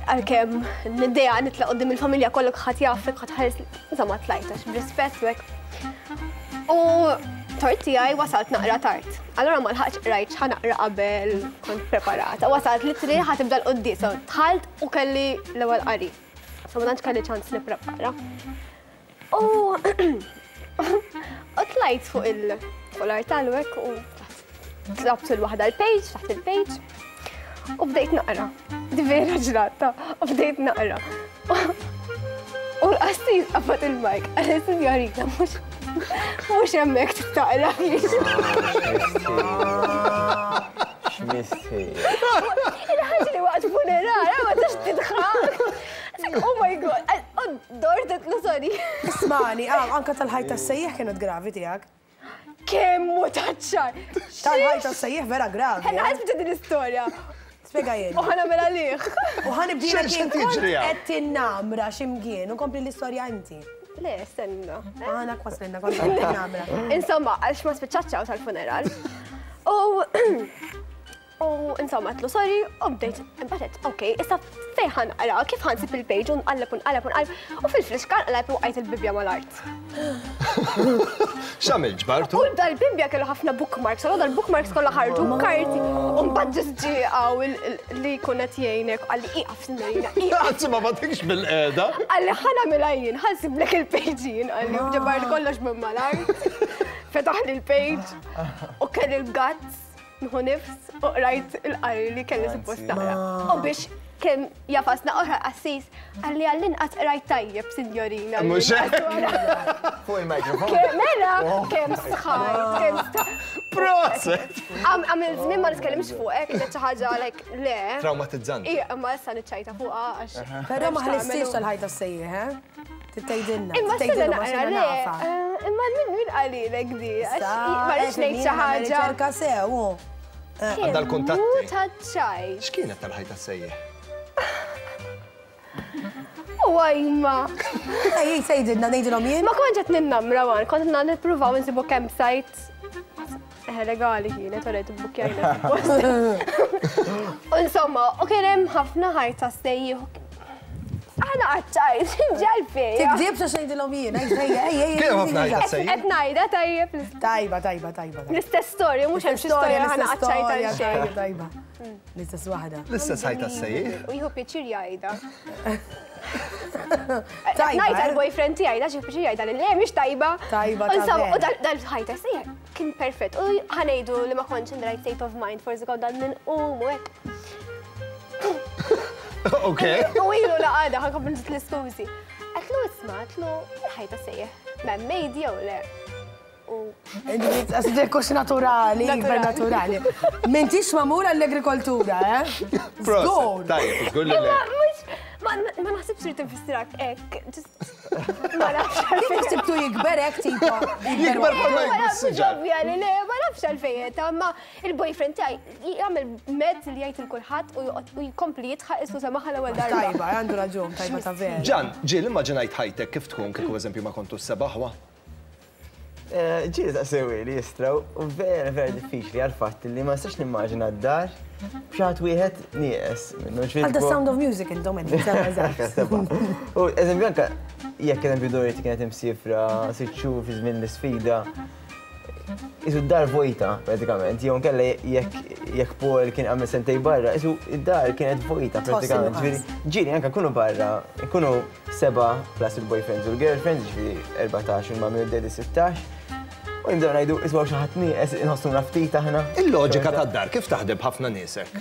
għalkemm n-idea nitla' qudiem il-familja kollok ħadd jafek, ħadd ħares, insomma tlajt għax b'rispett u hekk. U tort tiegħi wasalt naqra tard. Allura ma lħaqx qrajt x'ħa naqra qabel kont preparata. Wasalt li tri ħa tibda l-quddies, dħalt u kelli l-ewwel qari. So ma tantx kelli ċans nipprepara. U u tlajt fuq il fuq l-artal u hekk u tlabt il-waħda l-page, taħt il-page u bdejt naqra. Di vera ġrata, u bdejt naqra. U l-qassis qabad il-mike, għal sinjorita, mhux mhux hemmhekk taqra. X'mistħi. Il-ħaġa li waqt funeral, ma tistax tidħaq. Oh my god, dort no sorry. Ismani, ah, anka tal-ħajt tas-sejjeħ kienet gravi tiegħek. Kemm hu taċ-ċar. Tal-ħajt tas-sejjeħ vera gravi. Ħa nibda din l-istorja. Spjega jien. U ħa nagħmel għalih. U ħa nibdilek jien kont qed tinnamra x'imkien u kompli l-istorja inti. Le, stenna. Aħna kwaslilna kont qed tinnamra. Insomma, għax ma spiċċatx hawn tal-funeral. U U insomma, għedtlu sorry, u bdejt, imbagħad ok, issa fejn ħa naqra, kif ħa nsib il-page u nqalleb u nqalleb u nqalleb, u fil-friska nqalleb u wqajt il-Bibbja mal-art. X'għamilt ġbartu? U dal-Bibbja kellu ħafna bookmarks, allura dal-bookmarks kollha ħarġu karti, u mbagħad ġist ġie hawn li jkun qed jgħinek qalli ieqaf signorina, ieqaf. Anzi ma bagħtikx bil-qiegħda. Qalli ħa nagħmilha jien, ħa nsiblek il-page jien, qalli u ġabart kollox minn mal-art. Fetaħli l-page u kelli l-guts. Nħu nifs u qrajt il-qari li kelli suppost naqra. U biex kemm jafasna oħra qassis għalli għall-inqas qrajt tajjeb, sinjorina. Mhux hekk. Fuq il-mikrofon. Mela, kemm sħajt, kemm sħajt. Proset! Għamil żmien ma nitkellimx fuqek, kienet xi ħaġa like le. Traumatizzanti. Ija, imma issa niċċajta fuqha għax. Però ma ħlistix tal-ħajta sejjeħ, eh? Tgħidilna. Imma sena naqra le. Eh, imma min min qalilek di? Ma rridx ngħid xi ħaġa. Riċerka sew. Eh. Għandha l-kuntatti. Taċċaj. X'kienet tal-ħajta sejjeħ? U għajma. Ej, tgħidilna ngħidilhom jien. Ma kontx qed ninnamra wan, kont nippruvaw insibu campsite. Eh, legali kienet, u rejt bukkjajna. U insomma, u kien hemm ħafna ħajta sejjieħ. Aħna għadċajt, ġalfi. Tikdib xa xejdilhom jien, ej, ej, ej, ej. Kien ħafna ħajta sejjieħ. Qed ngħidha tajjeb. Tajba, tajba, tajba. L-istess storja, mhux hemm xi storja ħana għadċajt għal xejn. Tajba. L-istess waħda. L-istess ħajta sejjieħ. U jieħu pjaċir jgħidha. Tajba. Ngħid għall-boyfriend tiegħi, da xi pjaċir jgħidha li le mhix tajba. Tajba. U dal-ħajta sejjieħ Kien perfett. U ħa ngħidu li ma kontx in the right state of mind, forsi kont għad ninqum u hekk. Ok. U ilu la għada ħa nkompli nżid l-iskużi. Għedtlu isma', għedtlu il-ħajta sejjeħ. Man made jew le? U. Għax naturali, ikbar naturali. M'intix magħmul għall-agrikoltura, eh? Żgur. Tajjeb, żgur li le. Ma naħsibx li tinfissirek hekk. Ma nafx. Kif ħsibtu jikber hekk tipo? Jikber bħalma jikber siġar. Ovvja li le, ma nafx għalfejn, ma il-boyfriend tiegħi jagħmel mezz li jgħid il kulħadd u joqgħod u jkompli jidħaq isu semaħa l-ewwel darba. Tajba, għandu raġun, tajba ta' vera. Ġan, ġieli immaġinajt ħajtek kif tkun kieku eżempju ma kontux sebaħwa? Ġieli saqsewhieli li jistra u vera vera diffiċli għall-fatt li ma nistax nimmaġina d-dar b'xi ħadd wieħed nieqes minnu. Għal The Sound of Music intom qegħdin seba' eżatt. U eżempju anke jekk eżempju Dorothy kienet imsifra sitt xhur fi żmien l-isfida, isu d-dar vojta pratikament, jew inkella jekk jekk Paul kien għamel sentej barra, isu d-dar kienet vojta pratikament. Ġieli anke nkunu barra, nkunu Sebgħa plus il-boyfriends u l-girlfriends, jiġifieri 14 u l-mummy u d-daddy 16. U nibdew ngħidu isma' hawn xi ħadd nieqes, inħossuna ftit aħna. Il-loġika tad-dar kif taħdem b'ħafna nies hekk?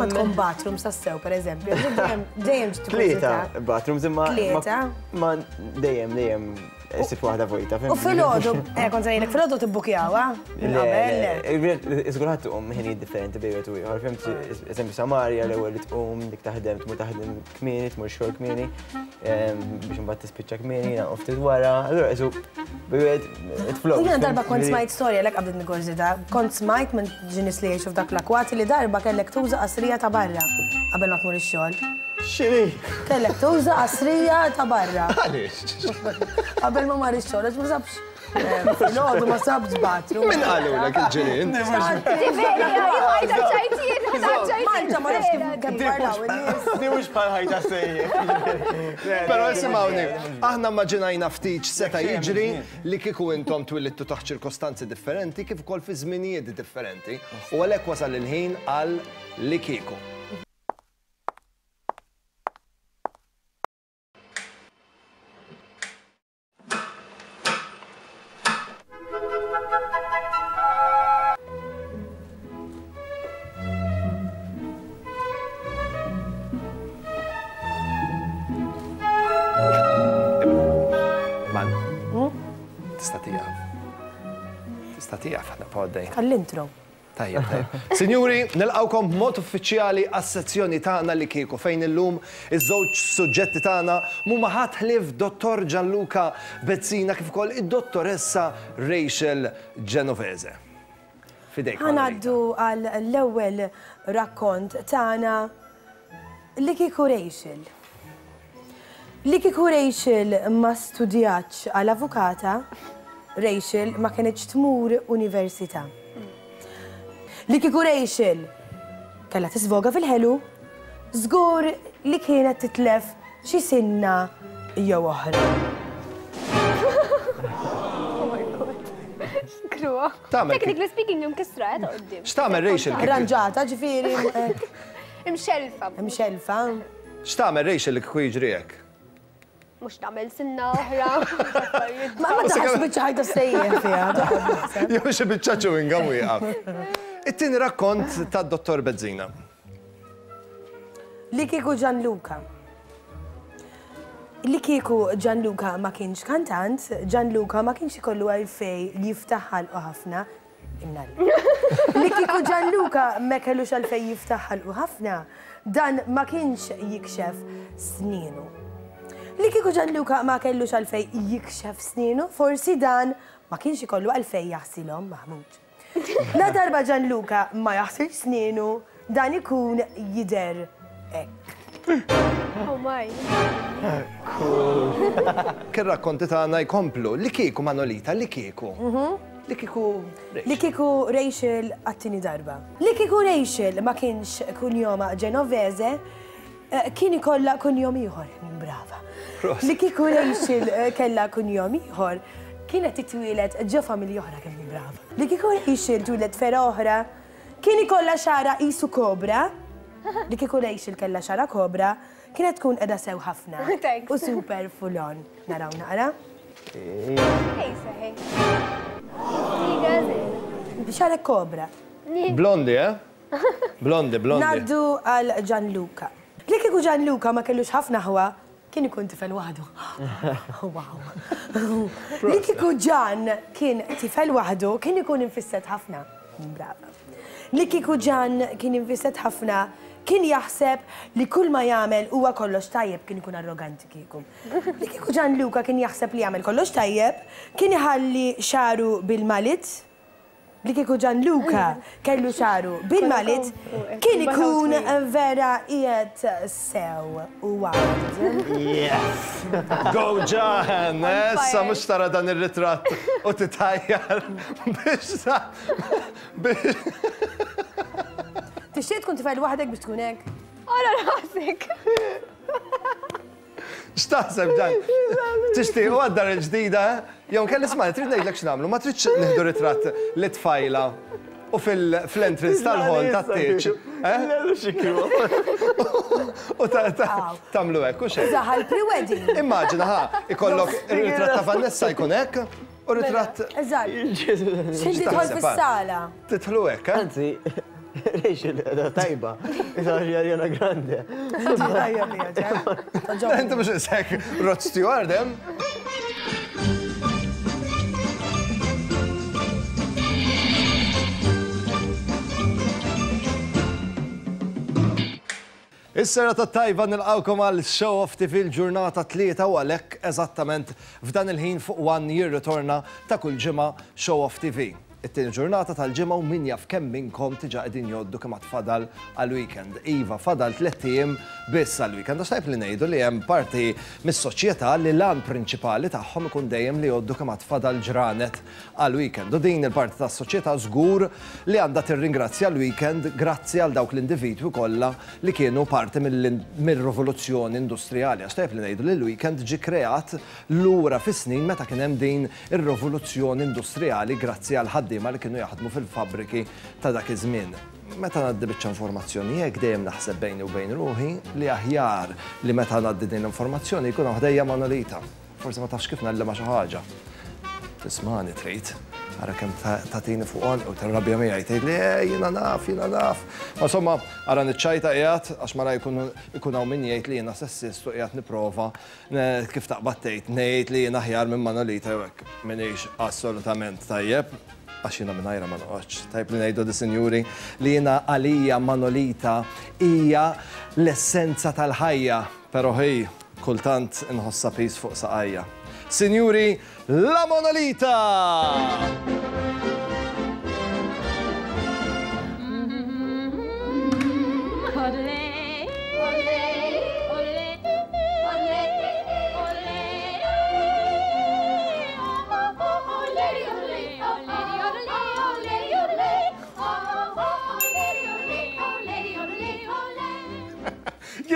Ma tkun bathrooms tassew, pereżempju. Dejjem dejjem Tlieta bathrooms imma. Tlieta. Ma dejjem dejjem issib waħda vojta. U filgħodu, eh kont se ngħidlek filgħodu tibbukjawha? Le, le, żgur ħadd tqum ħinijiet differenti bejn wieħed u ieħor. Fimt, eżempju Samaria l-ewwel li tqum, dik taħdem, tmur taħdem kmieni, tmur xogħol kmieni, biex imbagħad tispiċċa kmieni, jiena ftit wara, allura qisu wieħed it flows. Jiena darba kont smajt storja lek qabdet nikurzita, kont smajt minn xi nies li jgħixu f'dak l-akwati li darba kellek tuża qasrija ta' barra qabel ma tmur ix-xogħol. X'inhi? Kellek tuża qasrija ta' barra. Għaliex? Qabel ma mar ix-xogħol għax ma sabx Filgħodu ma sabx bathroom. Min qalulek il-ġirien? Malta ma nafx kif kemm parlaw in-nies. Di mhux bħal ħajta sejjer. Però isimgħuni, aħna immaġinajna ftit x'seta' jiġri li kieku intom twilidtu taħt ċirkostanzi differenti kif ukoll fi żminijiet differenti u għalhekk wasal il-ħin għal li kieku. Man, hmm? tista' tieqaf. Tista' tieqaf ħadna għaddej. Għall-intro. Tajjeb, tajjeb. Sinjuri, nilqgħukom b'mod uffiċjali għas-sezzjoni tagħna li kieku fejn illum iż-żewġ suġġetti tagħna m'huma ħadd ħlief Dottor Gianluca Bezzina kif ukoll id-Dottoressa Rachel Genovese. F'idejk, Ħa Manolita. ngħaddu għall-ewwel rakkont tagħna li kieku Rachel. Li kieku Rachel ma studjatx għal avukata, Rachel ma kenitx tmur università. Li kieku Rachel kellha tisvoga fil-ħelu, żgur li kienet titlef xi sinna jew oħra. Oh my god. Kruha. Technically speaking, imkissra ta' quddiem. X'tagħmel Rachel? Arranġata, ġifieri. Imxelfa. Imxelfa. X'tagħmel Rachel li kieku jiġri hekk? Mhux nagħmel sinna oħra. Ma ma taħx biċċa ħajta sejjer fiha. Jew xi biċċa chewing gum wieqaf. It-tieni rakkont tad-Dottor Bezzina. Li kieku Gianluca. Li kieku Gianluca ma kienx kantant, Gianluca ma kienx ikollu għalfej jiftaħ ħalqu ħafna Imnalla. Li kieku Gianluca ma kellux għalfejn jiftaħ ħalqu ħafna, dan ma kienx jikxef snienu. Li kieku Gianluca ma kellux għalfejn jikxef snienu, forsi dan ma kienx ikollu għalfejn jaħsilhom Mahmoud. La darba Gianluca ma jaħsilx snienu, dan ikun jidher hekk. Oh my. Kien rakkonti tagħna jkomplu li kieku Manolita, li kieku. Li kieku Li kieku Rachel għat-tieni darba. Li kieku Rachel ma kienx kunjoma Genovese, eh, kien ikollha kunjom ieħor. Min brava. Li kieku Rachel eh, kellha kunjom ieħor, kienet titwieled ġo familja oħra kemm brava. Li kieku Rachel twieled fera oħra, kien ikollha xara qisu kobra. Li kieku Rachel kellha xara kobra, Kienet tkun qiegħda sew ħafna. Thanks. U super full on. Naraw naqra. Ej seħi. Xarek kobra. Blondi, eh? Blondi, blondi. Naddu għal Gianluca. Li kieku Gianluca ma kellux ħafna ħwa, kien ikun tifel waħdu. Wow. Li kieku Gian kien tifel waħdu, kien ikun infisset ħafna. Brava. Li kieku Ġann kien infisset ħafna, kien jaħseb li kull ma jagħmel huwa kollox tajjeb, kien ikun arroganti kieku. Li kieku Ġanluka kien jaħseb li jagħmel kollox tajjeb, kien iħalli xagħru bil-malit. Li kieku Ġanluka kellu xagħru bil-malit, kien ikun vera qiegħed sew u wild. Yes! Go Ġann! Issa mhux tara dan ir-ritratt u titħajjar biex Tixtieq tkun tifel waħdek biex tkun hekk? Ara rasek. X'taħseb dan? Tixtieq u għad-dar il-ġdida? Jew kelli isma' trid ngħidlek x'nagħmlu, ma tridx nieħdu ritratt li tfajla u fil-entrance tal-ħol tat-tieġ. U tagħmlu hekk u xejn. Zaħal pre-wedding. Immaġina ħa, ikollok ir-ritratt ta' Vanessa jkun hekk U ritratt. Eżatt. X'inti tidħol fis-sala. Tidħlu hekk, eh? Anzi, Rachel qiegħda tajba. Isa Ariana Grande. Inti mhux isek Rod Stewart hemm. Is-serata t-tajba nilqgħukom għal Show Off TV l-ġurnata Tlieta u għalhekk eżattament f'dan il-ħin fuq One jirritorna ta' kull ġimgħa Show Off TV. It-tieni ġurnata tal-ġimgħa u min jaf kemm minnkom diġà qegħdin jgħoddu kemm għad fadal għall-weekend. Iva, fadal tlett ijiem biss għall-weekend għax tajjeb li ngħidu li hemm parti mis-soċjetà li l-għan prinċipali tagħhom ikun dejjem li jgħoddu kemm għad fadal ġranet għall-weekend. U din il-parti tas-soċjetà żgur li għandha tirringrazzja l-weekend grazzi għal dawk l-individwi kollha li kienu parti mir-rivoluzzjoni industrijali. Għax tajjeb li ngħidu li l-weekend ġie kreat lura fis-snin meta kien hemm din ir-rivoluzzjoni industrijali grazzi għall-ħaddiema li kienu jaħdmu fil-fabbriki ta' dak iż-żmien. Meta ngħaddi biċċa informazzjoni hekk dejjem naħseb bejni u bejn ruħi li aħjar li meta ngħaddi din l-informazzjoni jkun hawn ħdejja Manolita. Forsi ma tafx kif ngħallimha xi ħaġa. Tismagħni trid. Ara kemm tagħtini fuq għonqi u tirrabja miegħi tgħidli eh jiena naf, jiena naf. Ma insomma, ara niċċajta qiegħed għax mara jkun ikun hawn min jgħid li jiena sessist u qiegħed nipprova kif taqbad tgħid ngħid li jiena aħjar minn Manolita jew hekk. M'iniex assolutament tajjeb għax jiena mingħajrha ma noqgħodx. Tajjeb li ngħidu di sinjuri li jiena għalija Manolita hija l-essenza tal-ħajja. Pero hi, kultant inħossha piż fuq saqajja. Sinjuri, La Monolita!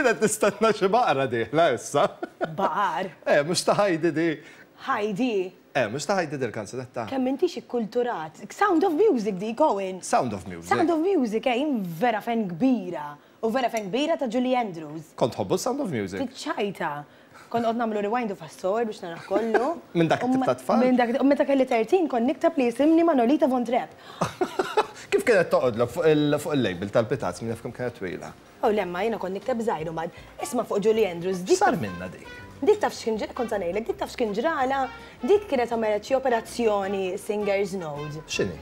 Jien qed nistenna xi baqra dieħla issa. Baqar? Eh, mhux ta' Heidi di. Heidi? Eh, mhux ta' Heidi dil-kanzunetta. Kemm intix ikkulturat. Sound of Music dik, Owen. Sound of Music. Sound of Music, eh, jien vera fan kbira. U vera fan kbira ta' Julie Andrews. Kont tħobbu Sound of Music? Tiċċajta. Kont noqgħod nagħmlu rewind u fast forward biex narah kollu. Minn dak it-tip ta' tfal? Minn dak, u meta kelli 13 kont nikteb li jisimni Manolita Von Trapp. Kif kienet toqgħodlok fuq il-label tal-pitazz min jaf kemm kienet twila? Oh le ma jiena kont nikteb żgħir u mbagħad isma' fuq Julie Andrews dik. X'sar minnha dik? Dik taf x'kien ġra, kont sa ngħidlek, dik taf x'kien ġralha, dik kienet għamlet xi operazzjoni Singer's Node. X'inhi?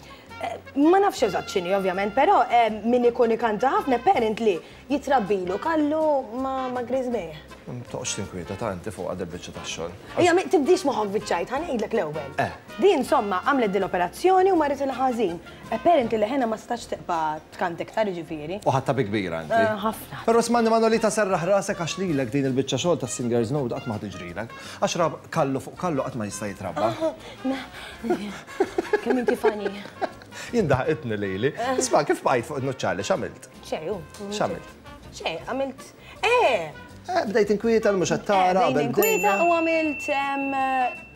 Ma nafx eżatt x'inhi ovvjament, però min ikun ikanta ħafna apparently Jitrabbilu kallu ma' griżmejh. Toqgħodx tinkwieta ta' inti fuqha dil-biċċa tax-xogħol. Ejja, tibdix moħħok biċ-ċajt, ħa ngħidlek l-ewwel. Eh. Di insomma għamlet dil-operazzjoni u marritilha ħażin. Apparently leħenha ma setax tibqa' tkanta iktar jiġifieri. U ħadtha bi kbira inti. Ħafna. Però ismagħni Manolita serraħ rasek għax lilek din il-biċċa xogħol tas-Singers Note qatt ma ħa tiġrilek. Għax ra kallu fuq kallu qatt ma jista' jitrabba. Kemm inti funny. Jien daħqitni lili. Isma' kif bqajt fuq in-nuċċali x'għamilt? Xejn, hu. X'għamilt? Xejn, għamilt. Eh! Eh, bdejt inkwieta l mhux qed tara. Bdejt inkwieta u għamilt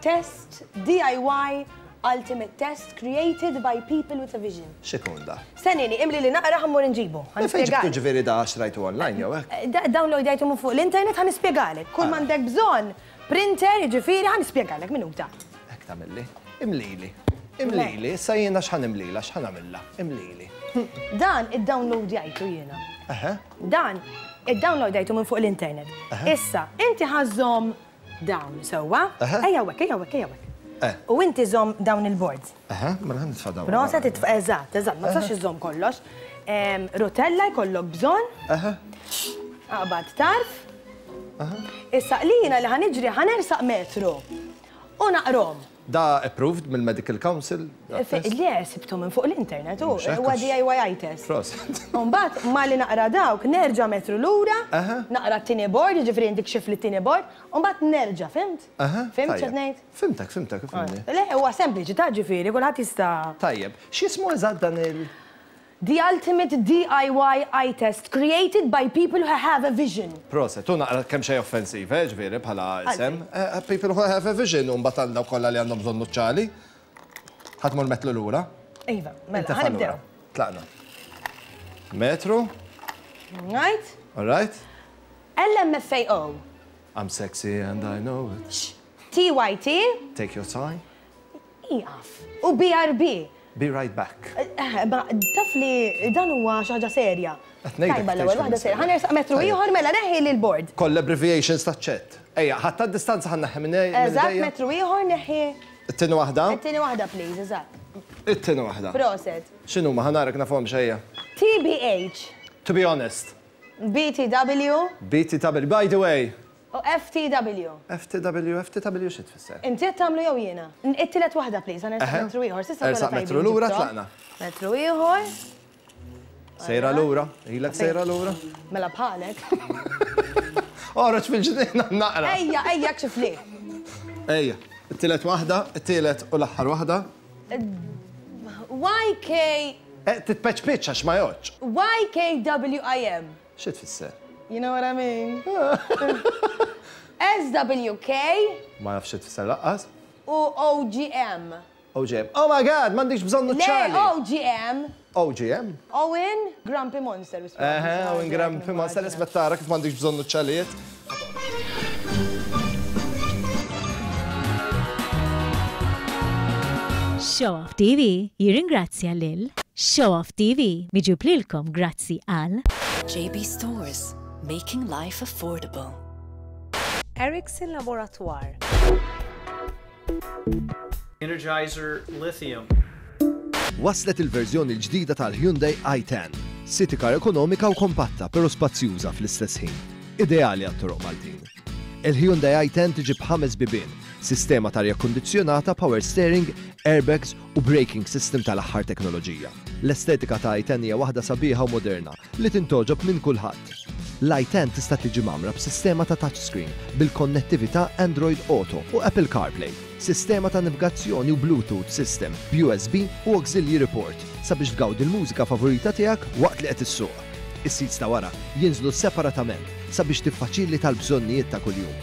test DIY Ultimate Test created by people with a vision. X'ikun da? Stennieni, imli li naqra ħa mmur inġibu. Ħa Fejn ġibtu ġifieri da xtrajtu online jew hekk? Eh, downloadajtu minn fuq l-internet ħa nispjegalek. Kull m'għandek bżonn printer, jiġifieri ħa nispjegalek minuta. Hekk tagħmilli. Imlili. Imlili, issa jiena x'ħa nimlilha, x'ħa nagħmilha? Imlili. Dan iddownloadjajtu jiena. Eħe. Dan iddownloadjajtu minn fuq l-internet. Issa, inti ħa żżomm dawn sewwa. Ejja hawnhekk, ejja hawnhekk, ejja hawnhekk. Eh. U inti żomm dawn il-boards. Eħe, mela ħa nitfa' dawn. Proset, itfa' eżatt, eżatt, ma tistax iżżomm kollox. Rotella jkollok bżonn. Eħe. Aqbad tarf. Issa li jiena li ħa niġri ħa nersaq metru u naqrom. Da approved mill-Medical Council? Le, sibtu minn fuq l-internet, u huwa DIY test. Proset. U mbagħad malli naqra dawk, nerġa' metru lura, naqra t-tieni board, jiġifieri inti kxifli t-tieni board, u mbagħad nerġa', fimt? Fimt x'qed ngħid? Fimtek, fimtek, fimni. Le, huwa sempliċi ta' ġifieri, kulħadd jista'. Tajjeb. X'jismu eżatt dan il-? The ultimate DIY eye test created by people who have a vision. Proset, hu naqra kemxejn offensiv, eh, ġifieri bħala isem. People who have a vision u mbagħad għal dawk kollha li għandhom bżonn nuċċali. Ħa tmur metlu lura? Iva, mela, ħa nibdew. Tlaqna. Metru. Right. All right. LMFAO. I'm sexy and I know it. TYT. Take your time. Ieqaf. U BRB. Be right back. Eh, ma taf li dan huwa xi ħaġa serja. Qed ngħidlek Tajba l-ewwel waħda serja. Ħa nersaq metru ieħor mela neħħi lil board. Koll abbreviations taċ-chat. Ejja, ħadd tad-distanza ħa nneħħi minn Eżatt, metru ieħor neħħi. It-tieni waħda? It-tieni waħda please, eżatt. It-tieni waħda. Proset. X'inhuma ħa narak nafhomx ejja. TBH. To be honest. BTW. BTW, by the way. U FTW. FTW, FTW xi tfisser? Inti qed tagħmlu jew jiena? It-tielet waħda please, ħa nersaq metru ieħor. S'issa kollha Ersaq tajbin metru lura ġibthom. tlaqna. Metru ieħor. Sejra lura, ilek sejra lura. Mela bħalek. Oħroġ fil-ġnien naqra. Ejja, ejja kxifli. Ejja, it-tielet waħda, it-tielet u l-aħħar waħda. YK. Eh, titpeċpiċ għax ma jgħoddx. YKWIM. Xi tfisser? You know what I mean? SWK. Ma nafx xi tfisser laqqas. U OGM. OGM. Oh my God, m'għandikx bżonn nuċċali. Le, OGM. OGM? Owen Grumpy Monster. Eħe, Owen Grumpy Monster, isma' tara kif m'għandikx bżonn nuċċalijiet. Show Off TV jirringrazzja lil Show Off TV miġjub lilkom grazzi għal. JB Stores, making life affordable. Erickson Laboratoire. Energizer Lithium. Waslet il-verżjoni l-ġdida tal-Hyundai i10. City car ekonomika u kompatta pero spazjuża fl-istess ħin. Ideali għat-toroq Maltin. Il-Hyundai i10 tiġi b'ħames bibien, sistema t'arja kkundizzjonata, power steering, airbags u braking system tal-aħħar teknoloġija. L-estetika ta' i10 hija waħda sabiħa u moderna li tintgħoġob minn kulħadd. L-i10 tista' tiġi mgħammra b'sistema ta' touchscreen bil-konnettività Android Auto u Apple CarPlay, sistema ta' nivgazzjoni u Bluetooth system b'USB u auxiliary port sabiex tgawdi l-mużika favorita tiegħek waqt li qed issuq. Is-seats ta' wara jinżlu separatament sabiex tiffaċilita l-bżonnijiet ta' kuljum.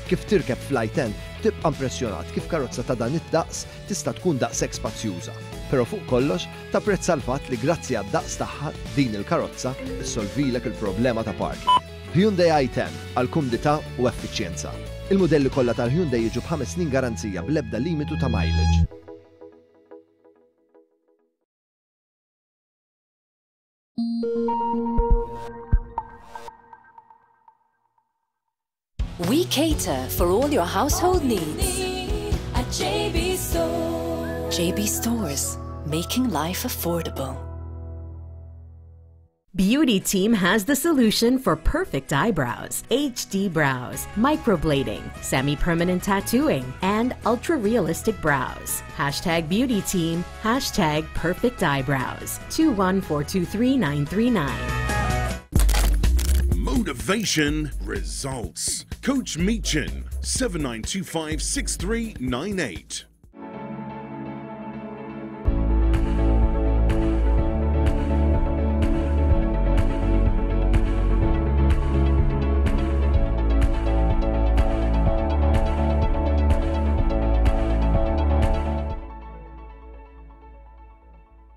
Kif tirkeb fl-i10 tibqa' impressjonat kif karozza ta' dan id-daqs tista' tkun daqshekk spazjuża. Però fuq kollox tapprezza l-fatt li grazzi għad-daqs tagħha din il-karozza ssolvilek il-problema ta' parking. Hyundai i10 għal kumdità u effiċjenza. Il-mudelli kollha tal-Hyundai jiġu b'ħames snin garanzija bl-ebda limitu ta' mileage. We cater for all your household needs. At JB Stores. JB Stores, making life affordable. Beauty Team has the solution for perfect eyebrows, HD brows, microblading, semi permanent tattooing, and ultra realistic brows. Hashtag Beauty Team, hashtag perfect eyebrows. 2142399. Motivation results. Coach Meechan, 7925 6398.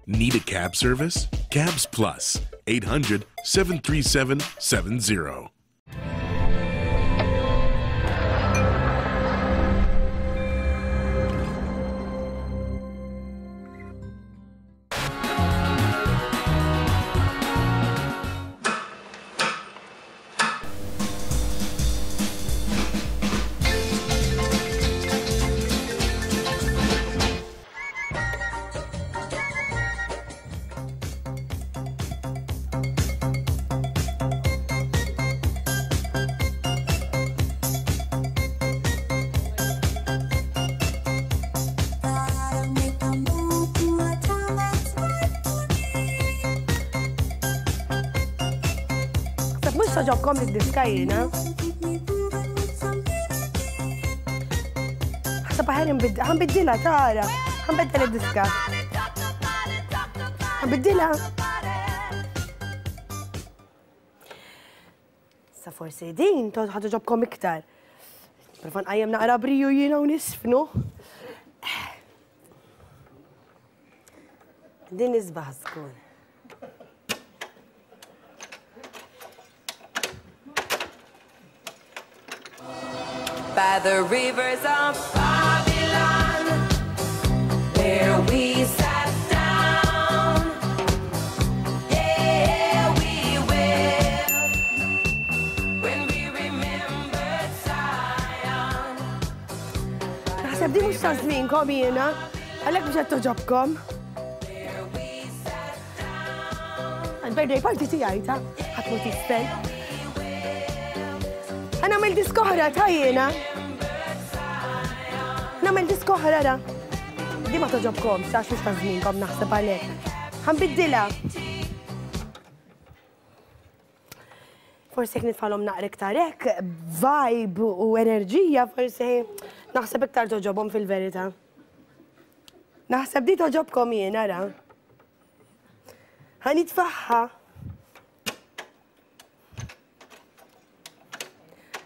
Need a cab service? Cabs Plus, 800 737 70. Sab mux toġobkom id-diska jiena. Ħseb aħjar ħanbiddilha tara. Ħanbiddel id-diska. Ħanbiddilha. Sa forsi din ħatoġobkom iktar. Prova nqajjem naqra briju jiena u nisfnu. Din isbaħ żgur. By the rivers of Babylon, where we sat down, yeah, we wept when we remembered Zion. Naħseb di mhux ta' żmienkom jiena, għalhekk mhux qed toġobkom. Għal-birthday party tiegħi ta' ħadd mhu tisfel. Ħa nagħmel diska oħra ta' jiena. Nagħmel diska oħra ra. Di ma toġobkom, għax mhux ta' żmienkom naħseb għalhekk. Ħanbiddilha. Forsi jekk nitfalhom naqra iktar hekk, vibe u enerġija, forsi naħseb iktar toġobhom fil-verità. Naħseb di toġobkom jien, ara. Ħa nitfaħħa.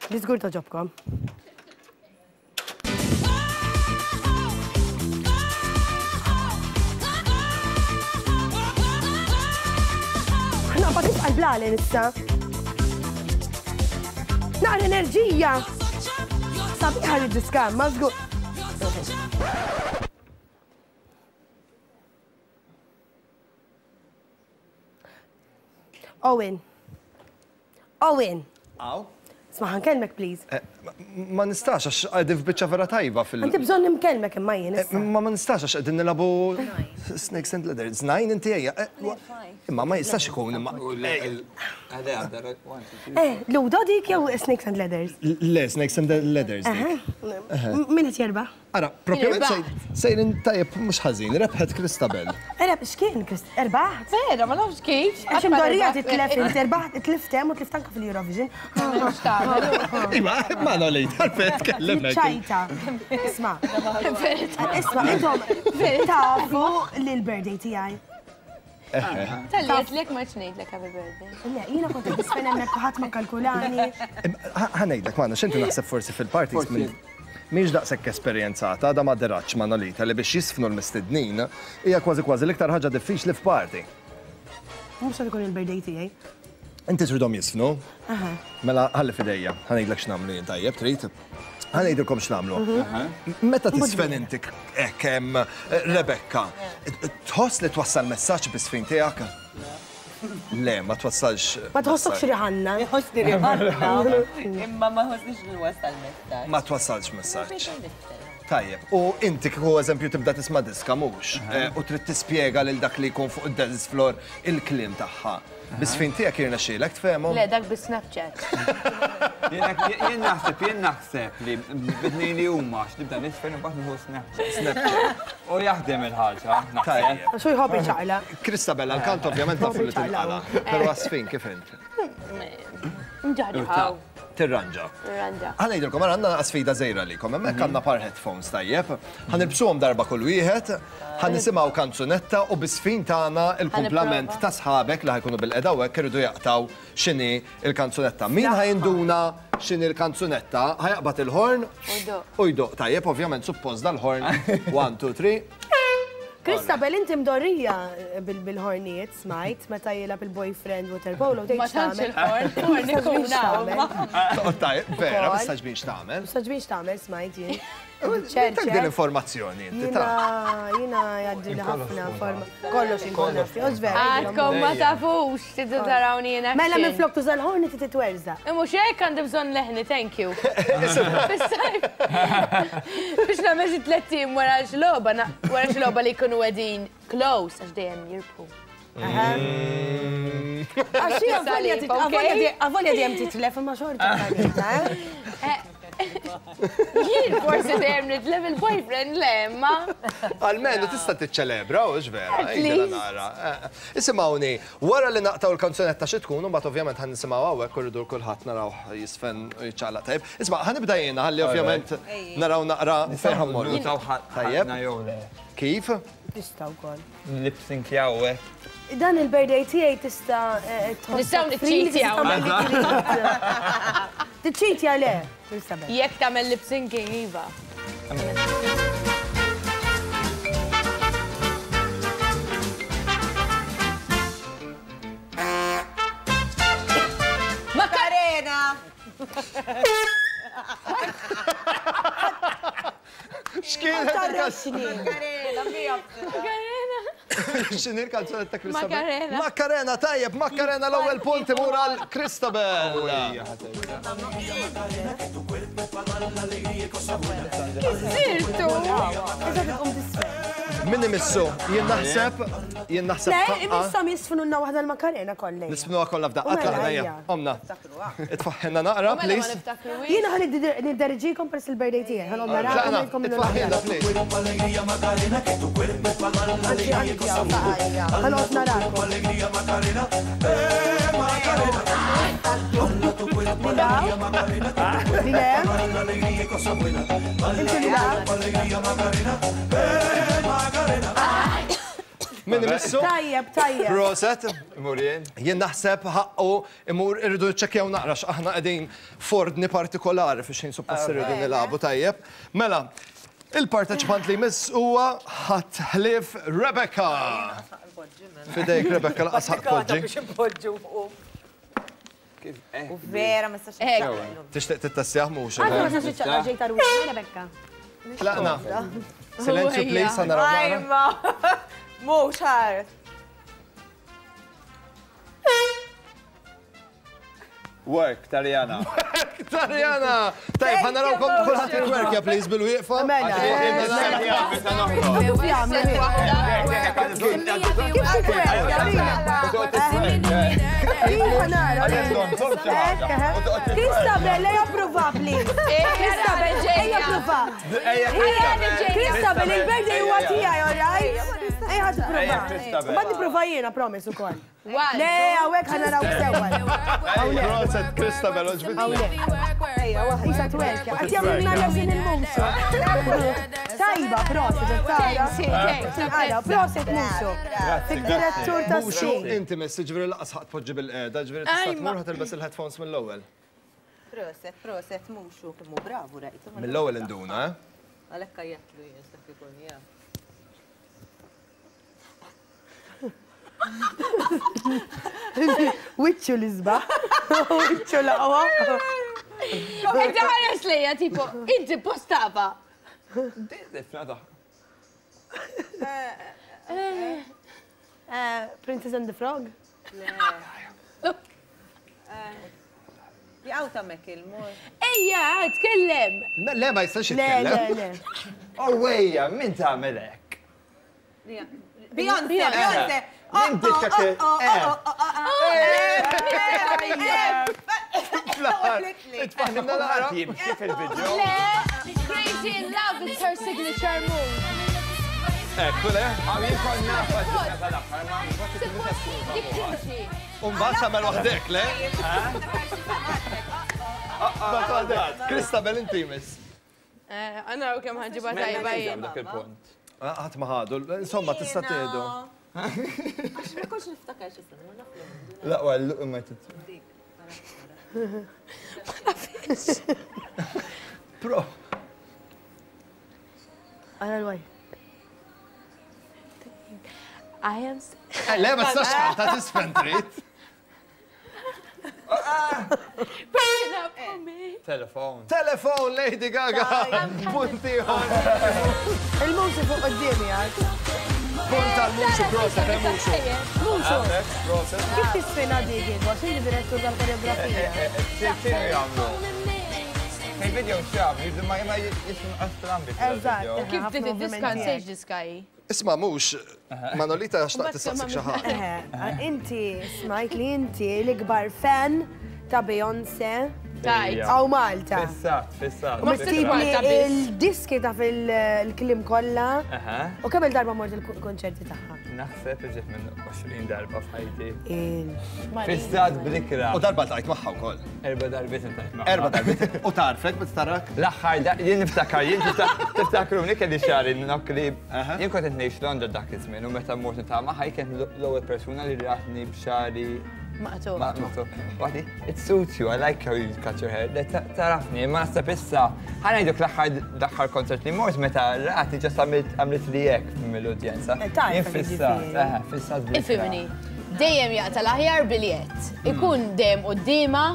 Di żgur toġobkom. Naqbad nibqa' l-blalen issa. Naqra enerġija! Sabiħa li diska, ma żgur. Owen. Owen. Aw. Isma' ħa nkellmek please. Eh, ma nistax għax qegħdin f'biċċa vera tajba fil. Għandi bżonn nimkellmek imma jien. Eh, ma ma nistax għax qegħdin nilagħbu Snakes and Ladders. Nine inti ejja. Eh, imma ma jistax ikun imma. Eh, Ludo dik jew Snakes and Ladders? Le, Snakes and Ladders. Min qed jerbaħ? Ara, propjament sejrin tajjeb mhux ħażin, rebħet Christabel. Ereb, x'kien Christ, erbaħt? Vera, ma nafx kif. Għax imdorrija titlef inti erbaħt, tlift hemm u tlift anke fil-Eurovision. Iva, ma no li għalfejn tkellem hekk. Ċajta. Isma'. Isma' intom tafu li l-birthday tiegħi. Talli għedtlek ma ngħidlek happy birthday. Le, jiena kont qed nisfen hemmhekk u ħadd ma kalkulani. Ħa ngħidlek, Manu, x'inti naħseb forsi fil-parties minn mhix daqshekk esperjenzata, għadha ma deratx Manolita li biex jisfnu l-mistednin hija kważi kważi l-iktar ħaġa diffiċli f'party. Mhux se jkun il-birthday tiegħi. Inti tridhom jisfnu? Aha. Mela ħalli f'idejja, ħa ngħidlek x'nagħmlu jien tajjeb, trid? Ħa ngħidilkom x'nagħmlu. Mhm. Meta tisfen inti hekk hemm Rebecca, tħoss li twassal messaġġ bis-sfin tiegħek? Le, ma twassalx. Ma tħossokx riħanna. Nħossni riħanna. Imma ma nħossnix li nwassal messaġġ. Ma twassalx messaġġ. Tajjeb, u inti kieku eżempju tibda tisma' diska mhux, u trid tispjega lil dak li jkun fuq id-dance floor il-kliem tagħha. Bis-sfin tiegħek jirnexxielek tfehmhom? Le, dak bi Snapchat. Jien naħseb, jien naħseb li bidni li huma x'nibda nisfen u mbagħad nieħu Snapchat. Snapchat. U jaħdem il-ħaġa, naħseb. Għax hu jħobb iċaqlaq. Christabella, l-kant ovvjament nafu li tinqala', però għas-sfin kif int? Nġarġaw. Tirranġa. Tirranġa. Ħa ngħidilkom, ara għandna sfida żgħira għalikom. Hemmhekk għandna par headphones tajjeb. Ħa nilbsuhom darba kull wieħed, ħa nisimgħu kanzunetta u bis-sfin tagħna il-kumplament ta' sħabek li ħa jkunu bilqiegħda hawnhekk iridu jaqtgħu x'inhi l-kanzunetta. Min ħa jinduna x'inhi l-kanzunetta ħa jaqbad il-ħorn u jdoqq. Tajjeb, ovvjament suppost dal-ħorn. One, two, three. Christabel, inti mdorrija bil-ħornijiet, smajt, meta jilgħab il-boyfriend water polo, tgħid Ma tantx il-ħorn, ħorn ikun hawn. Toqgħod tajjeb, vera, ma tistax biex tagħmel. Ma tistax biex tagħmel, smajt jien. Ċert. Din l-informazzjoni inti ta. Jiena jgħaddi li ħafna forma. Kollox inkun naf. Għadkom ma tafux, tidu tarawni jiena. Mela minflok tuża l-ħorn inti titwerża. Mhux hekk għandi bżonn leħni, thank you. Biex nagħmel xi tlett ijiem wara xi logħba, wara xi logħba li jkunu qegħdin close għax dejjem jirbħu. Għax hija avolja dejjem titlef imma xorta kanita, eh? Jien forsi dejjem nitlef il-boyfriend le, imma. Almenu tista' tiċċelebra, hux vera? Nara. Isimgħuni, wara li naqtgħu l-kanzunetta xi tkun, u mbagħad ovvjament ħa nisimgħu hawnhekk u rridu kulħadd narawh jisfen u jiċċaqlaq tajjeb. Isma' ħa nibda jiena ħalli ovvjament naraw naqra fejn ħa mmorru. Tajjeb. Kif? Tista' wkoll. Lip sync jew hekk. Dan il-birthday tiegħi tista' tħossok. Nistgħu niċċitjaw. Tiċċitja le. Jekk tagħmel lip syncing iva. Macarena! X'kienet Macarena, mija. Macarena. X'inhi l-kanzunetta ta' Christabel? Macarena. Macarena, tajjeb, Macarena l-ewwel punt imur għal Christabel. Sirtu! Min imissu? Jien naħseb, jien naħseb. Le, ħaqqa. imisshom jisfnunna waħda l-Macarena kollha. Nisfnuha kollha f'daqqa U mela, tlaqna hija. ejja. Omna. Itfaħħilna naqra, Mela ma please. niftakru Jiena ħa nidderiġikom peress il-birthday tiegħi, ħa noqgħod narakom Tlaqna, ngħidilkom minnu itfaħħilna, please. Ħa noqgħod narakom. Lila? Inti Lila? Min imissu? Tajjeb, tajjeb. Proset. Imur jien. Jien naħseb ħaqqu imur irridu niċċekkjaw naqra x'aħna qegħdin f'ordni partikolari fiex ħin suppost irridu nilagħbu tajjeb. Mela, il-parteċipant li jmiss huwa ħadd ħlief Rebecca. Fidejk Rebecca laqas ħaqq poġġi. biex impoġġu fuq. U vera ma nistax niċċaqlaq. Tixtieq tittessjaħ mhux. Għadha ma tistax tiċċaqlaq ġejta rwieħ, Rebecca. Tlaqna. Silenzju please, ħa naraw naqra. Ajma. Mhux ħar. Work, Tarjana. Work, Tarjana! Tajb, ħa narawkom kulħadd jitwerkja please bil-wieqfa. Mela. Christabel, ejja prova, please. Christabel, ejja prova. Christabel, il-birthday huwa tiegħi, all right? Ejja ħad prova. Ma nipprova jiena, promise ukoll. Le, hawnhekk ħa naraw sewwa. Proset, Christabel, oġbitni. Hawnhekk. Ejja, isa twerkja. Qed jagħmlulna lesin il-musu. Tajba, proset, tara. Tinqala, proset Muxu. Direttur ta' Muxu, inti miss, ġifieri lanqas ħa tpoġġi bil-qiegħda, ġifieri tista' tmur ħa tilbes il-headphones mill-ewwel. Proset, proset, Muxu, kemm hu bravu rajtu. Mill-ewwel induna, eh? Għalhekk għajjatlu jien dak ikun jaf. Wiċċu l-isbaħ. Wiċċu l-aqwa. Inti ħares lejja tipo, inti postava. Princess and the Frog? Jaqaw ta' Macklemore. Ejja, tkellem! Le, ma jistax jitkellem. Le, le, le. Oh, ejja, min tagħmel hekk? Beyoncé, Beyoncé. Min dik Jibki fil-video. Le, Crazy in Love is her signature move. Ekku le? Għaw jikon nafa tal-aħħar ma. Dik timxi. Umbagħad tagħmel waħdek, le? Mbagħad waħdek. Christabel inti miss. Għanna u kemm ħanġiba tajba jien. Dak il-punt. Ħadd ma ħadu, insomma tista' tieħdu. Għax ma kontx niftakar x'isem, ma naf li. La, għallu imma tit. Ma nafx. Pro. Għala l-waj. I am. Le, ma tistax ta' tisfen trid. Burn up for me. Telefon. Telefon, Lady Gaga. Punti Il-musi fuq qoddimi għad. Punt tal-muxu, proset, eh, muxu. Muxu. Proset. Kif tisfina dik għax inti direttur tal-koreografija? X'inhu jagħmlu? Fil-video x'jagħmlu, ma ma jismu astrambi. Eżatt. Kif bdiet id-diska nsejx diska hi. Isma' mhux, Manolita xtaqt tistaqsik xi ħaġa. Inti smajt li inti l-ikbar fan ta' Beyoncé. Tajt. Għaw Malta. Fissat, fissat. U tip li il-diski ta' fil-klim kollha. U kemm il-darba mort il-konċerti tagħha? Naħseb iġib minn 20 darba f'ħajti. Fissat blikra. U darba ltqajt magħha wkoll. Erba' darbiet iltqajt magħha. Erba' darbiet. U tarfek meta tarak? L-aħħar jien niftakar, jien tiftakruni kelli xagħri nokli. Jien kont qed ngħix Londra dak iż-żmien u meta mort niltaqa' magħha hi kienet l-ewwel persuna li ratni b'xagħri Maqtugħ. Maqtugħ. Waħdi, it suits you, I like how you cut your hair. Tarafni, imma naħseb issa, ħa ngħidlek l-aħħar concert li mort meta ratni ġast għamlet li hekk mill-udjenza. Jien fissat, eħe, fissat bl Ifhimni, dejjem jaqta' l-aħjar biljett. Ikun dejjem quddiemha.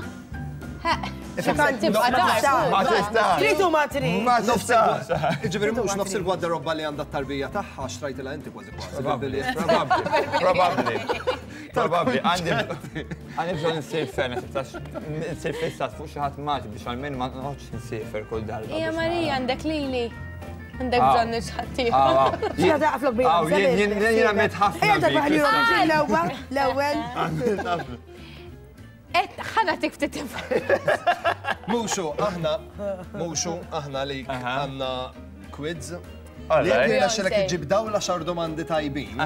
Tibqa' taf. Ma tistax. Trid u ma trid. Ma tistax. Jiġifieri mhux nofs il-gwardarobba li għandha t-tarbija tagħha xtrajtilha inti kważi kważi. bil-biljett. Probabbli. Probabbli. Għandi għandi bżonn insir fan, għax insir fissat fuq xi ħadd maġ biex għalmenu ma noqgħodx insiefer kull darba. Ija biex Marija nara. għandek lili. Għandek Ah. bżonn xi Ah, ah. Xi taqflok bi Ah, jien jien jien għamilt ħafna. Ejja darba bik. ħalli l-ewwel, l-ewwel. Għamilt ħafna. Et ħana tik ftit Muxu, aħna, muxu, aħna li għandna quiz. All Li jekk right. jirnexxilek iġġib dawn l-għaxar domandi tajbin,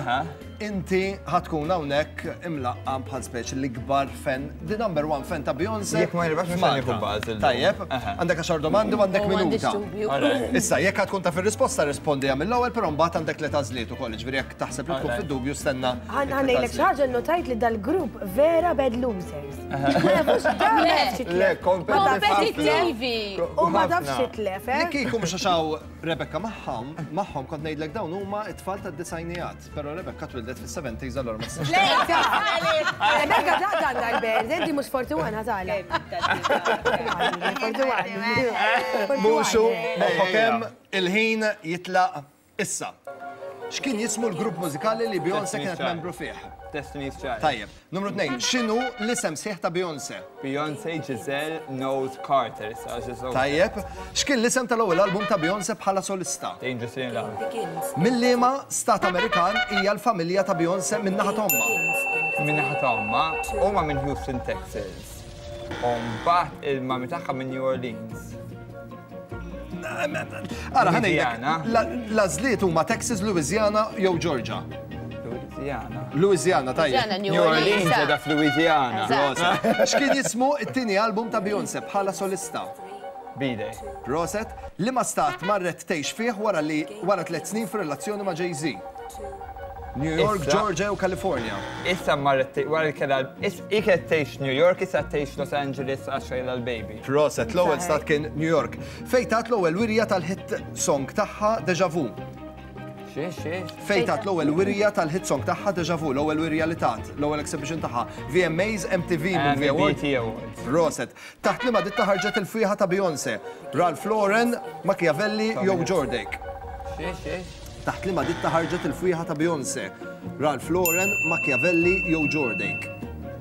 inti ħatkun hawnhekk imlaqqam bħal speċi l-ikbar fan, the number one fan ta' Beyoncé. Jekk ma nirbaħx mhux f'Malta. ħa nieħu buzz illum. Tajjeb, għandek għaxar domandi u għandek U m'għandix minuta. dubju. All right. Issa, jekk ħatkun taf ir-risposta rispondiha mill-ewwel, però mbagħad għandek tliet għażliet ukoll, jiġifieri jekk taħseb li tkun All right. fid-dubju stenna. Ħa ngħidlek xi ħaġa nnotajt li dal-grupp vera bad losers. Ma jafux dan ma jafx Le, jitlef. Kompetittivi. U ma tafx jitlef, eh? Li kieku mhux għax hawn Rebecca magħhom, magħhom kont ngħidlek dawn huma t-tfal tad-disajnijat, però Rebecca twildet fis-70s allura ma tistax. Le, Rebecca ta' għandha l-band, inti mhux 41 ħatala. 41. Muxu, moħħok hemm il-ħin jitlaq issa. X'kien jismu l-grupp mużikali li Beyoncé kienet membru fih? Destiny's Child. Tajjeb. Numru 2, x'inhu l-isem sħiħ ta' Beyoncé? Beyoncé Giselle Knowles Carter. issa, Giselle. Tajjeb. X'kien l-isem tal-ewwel album ta' Beyoncé bħala solista? Dangerously in Love. Minn liema stat Amerikan hija l-familja ta' Beyoncé minn naħa t'ommha? Minn naħa ta' ommha, huma minn Houston, Texas. U mbagħad il-mami tagħha minn New Orleans. Ara, ħa ngħidlek, Louisiana. l-għażliet huma Texas, Louisiana jew Georgia. Louisiana. Louisiana, tajjeb. Louisiana, New New Orleans Orleans. qiegħda f'Louisiana. Eżatt. X'kien jismu t-tieni album ta' Beyoncé bħala solista? B-Day. Proset. Liema stat marret tgħix fih wara li wara tlett snin f'relazzjoni ma' Jay-Z? New York, Issa- Georgia u California. Issa marret tgħix wara li kellha hi kienet tgħix New York, issa tgħix Los Angeles għax kellha l-baby. Proset, l-ewwel stat kien New York. Fejn tat l-ewwel wirja tal-hit song tagħha Deja Vu? Xi, xi? Fejn tat l-ewwel wirja tal-hit song tagħha Deja Vu, l-ewwel wirja li tat, l-ewwel exhibition tagħha. VMAs, MTV Movie Awards. BET Awards. Proset. Taħt liema ditta ħarġet il-fwieħa ta' Beyoncé? Ralph Lauren, Machiavelli jew Jordake? Xi, xi? Taħt liema ditta ħarġet il-fwieħa ta' Beyoncé? Ralph Lauren, Machiavelli jew Jordake?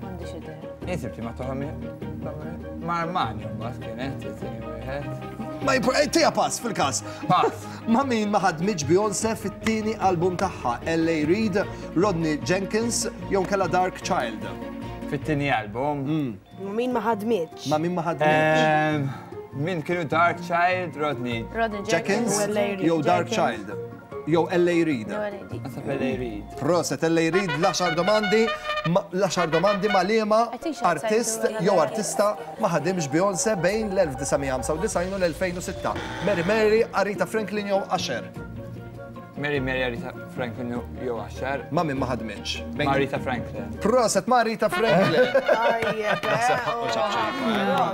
M'għandix idea. Jien li ma toħom ma' Armani mbagħad kienet it-tieni wieħed. Ma jimpor, eh, tija pass fil-każ. Pass. Ma' min ma ħadmitx Beyoncé fit-tieni album tagħha, LA Reid, Rodney Jenkins jew kella Dark Child. Fit-tieni album? Ma' min ma ħadmitx. Ma' min ma ħadmitx. Ehm, min kienu Dark Child, Rodney. Rodney Jenkins jew Dark Child. Jew LA Reid. Naħseb LA Reid. Proset, LA Reid, l-għaxar domandi, l-għaxar domandi ma' liema artist jew artista ma ħadimx Beyoncé bejn l-1995 u l-2006. Mary Mary, Aretha Franklin jew Usher. Mary Mary Aretha Franklin jew Usher. Ma' min ma ħadmitx. Ma' Aretha Franklin. Proset, ma' Aretha Franklin.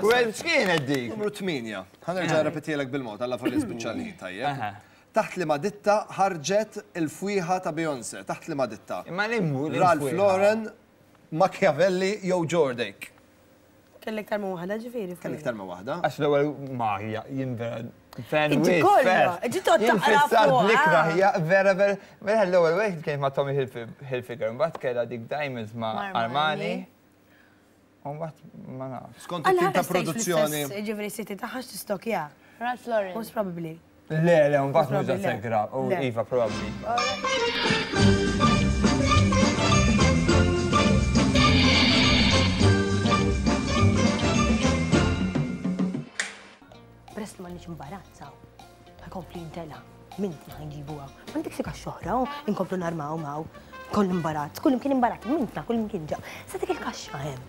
Well, x'kienet dik? Numru 8. Ħa nerġa' nirrepetielek bil-mod, alla volja spiċċa l-ħin tajjeb. Taħt liema ditta ħarġet il-fwieħa ta' Beyoncé? Taħt liema ditta? Imma li Ralph Lauren, Machiavelli jew Jordake? Kellek iktar minn waħda ġifieri. Kellek iktar minn waħda. Għax l-ewwel ma hija jien vera fan Inti kollha, inti toqgħod taqra fuqha. L-ikra hija vera vera vera l-ewwel wieħed kienet ma' Tommy Hilfiger, mbagħad kellha dik Diamonds ma' Armani. U mbagħad ma nafx. Skont it-tim ta' produzzjoni. Ġifieri s-siti tagħha x'tistokja. Ralph Lauren. Most probably. Le, le, mbagħad mhux daqshekk grav. U iva, probabbli. Peress li m'għandniex imbarazz hawn, ħa jkompli jintela'. Mintna ħa nġibu hawn. M'għandekx xi kaxxa oħra hawn, inkomplu narmaw hawn. Koll imbarazz, kull imkien imbarazz, mintna kull imkien ġa. Sa dik il-kaxxa hemm.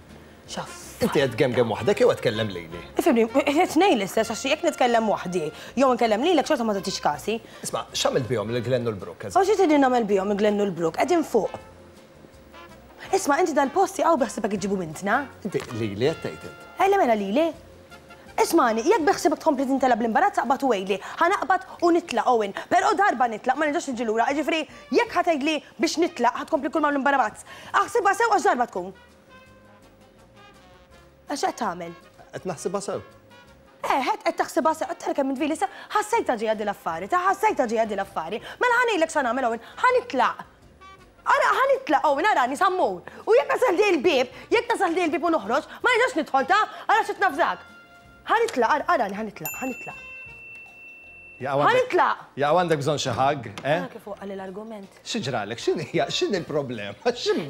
Xaff. Inti qed tgemgem waħdek jew qed tkellem lili? Ifhimni, qed ngħid l-istess għax jekk nitkellem waħdi jew inkellem lilek xorta ma tagħtix kasi. Isma' x'għamilt bihom lil Glenn u l-Brooke eżatt? U xi tridni nagħmel bihom il-Glenn u l-Brooke? Qegħdin fuq. Isma' inti dal-post jaqgħu beħsiebek iġġibu mintna? Inti lili qed tgħid int? Ejja mela lili. Ismagħni, jekk beħsiebek tkompli tintela' bl-imbarazz aqbad u għidli. Ħa naqbad u nitlaq, Owen. Però darba nitlaq, ma nerġax niġi lura, jiġifieri jekk ħa tgħidli biex nitlaq ħa tkompli kull ma hawn l-imbarazz. Aħsibha sew għax darba tkun. Għax x'qed tagħmel? Qed naħsibha sew. Eh, qed taħsibha sew, qed tara kemm int vili sew. Ħassejtha ġejja din l-affari, ta' ħassejtha ġejja din l-affari. Mela ħa ngħidlek x'ħa nagħmel, Owen, ħa nitlaq. Ara, ħa nitlaq, Owen, arani, sa mmur. U jekk tasal ħdej il-bieb, jekk tasal ħdej il-bieb u noħroġ, ma nerġax nidħol, ta? Ara x'qed nafżak. Ħa nitlaq, ara, arani, ħa nitlaq, ħa nitlaq. Ħa nitlaq! Jaqaw għandek bżonn xi hug, eh? Ara kif waqgħali l-argument. Xi ġralek? X'inhi hija, x'inhi l-problema? X'in.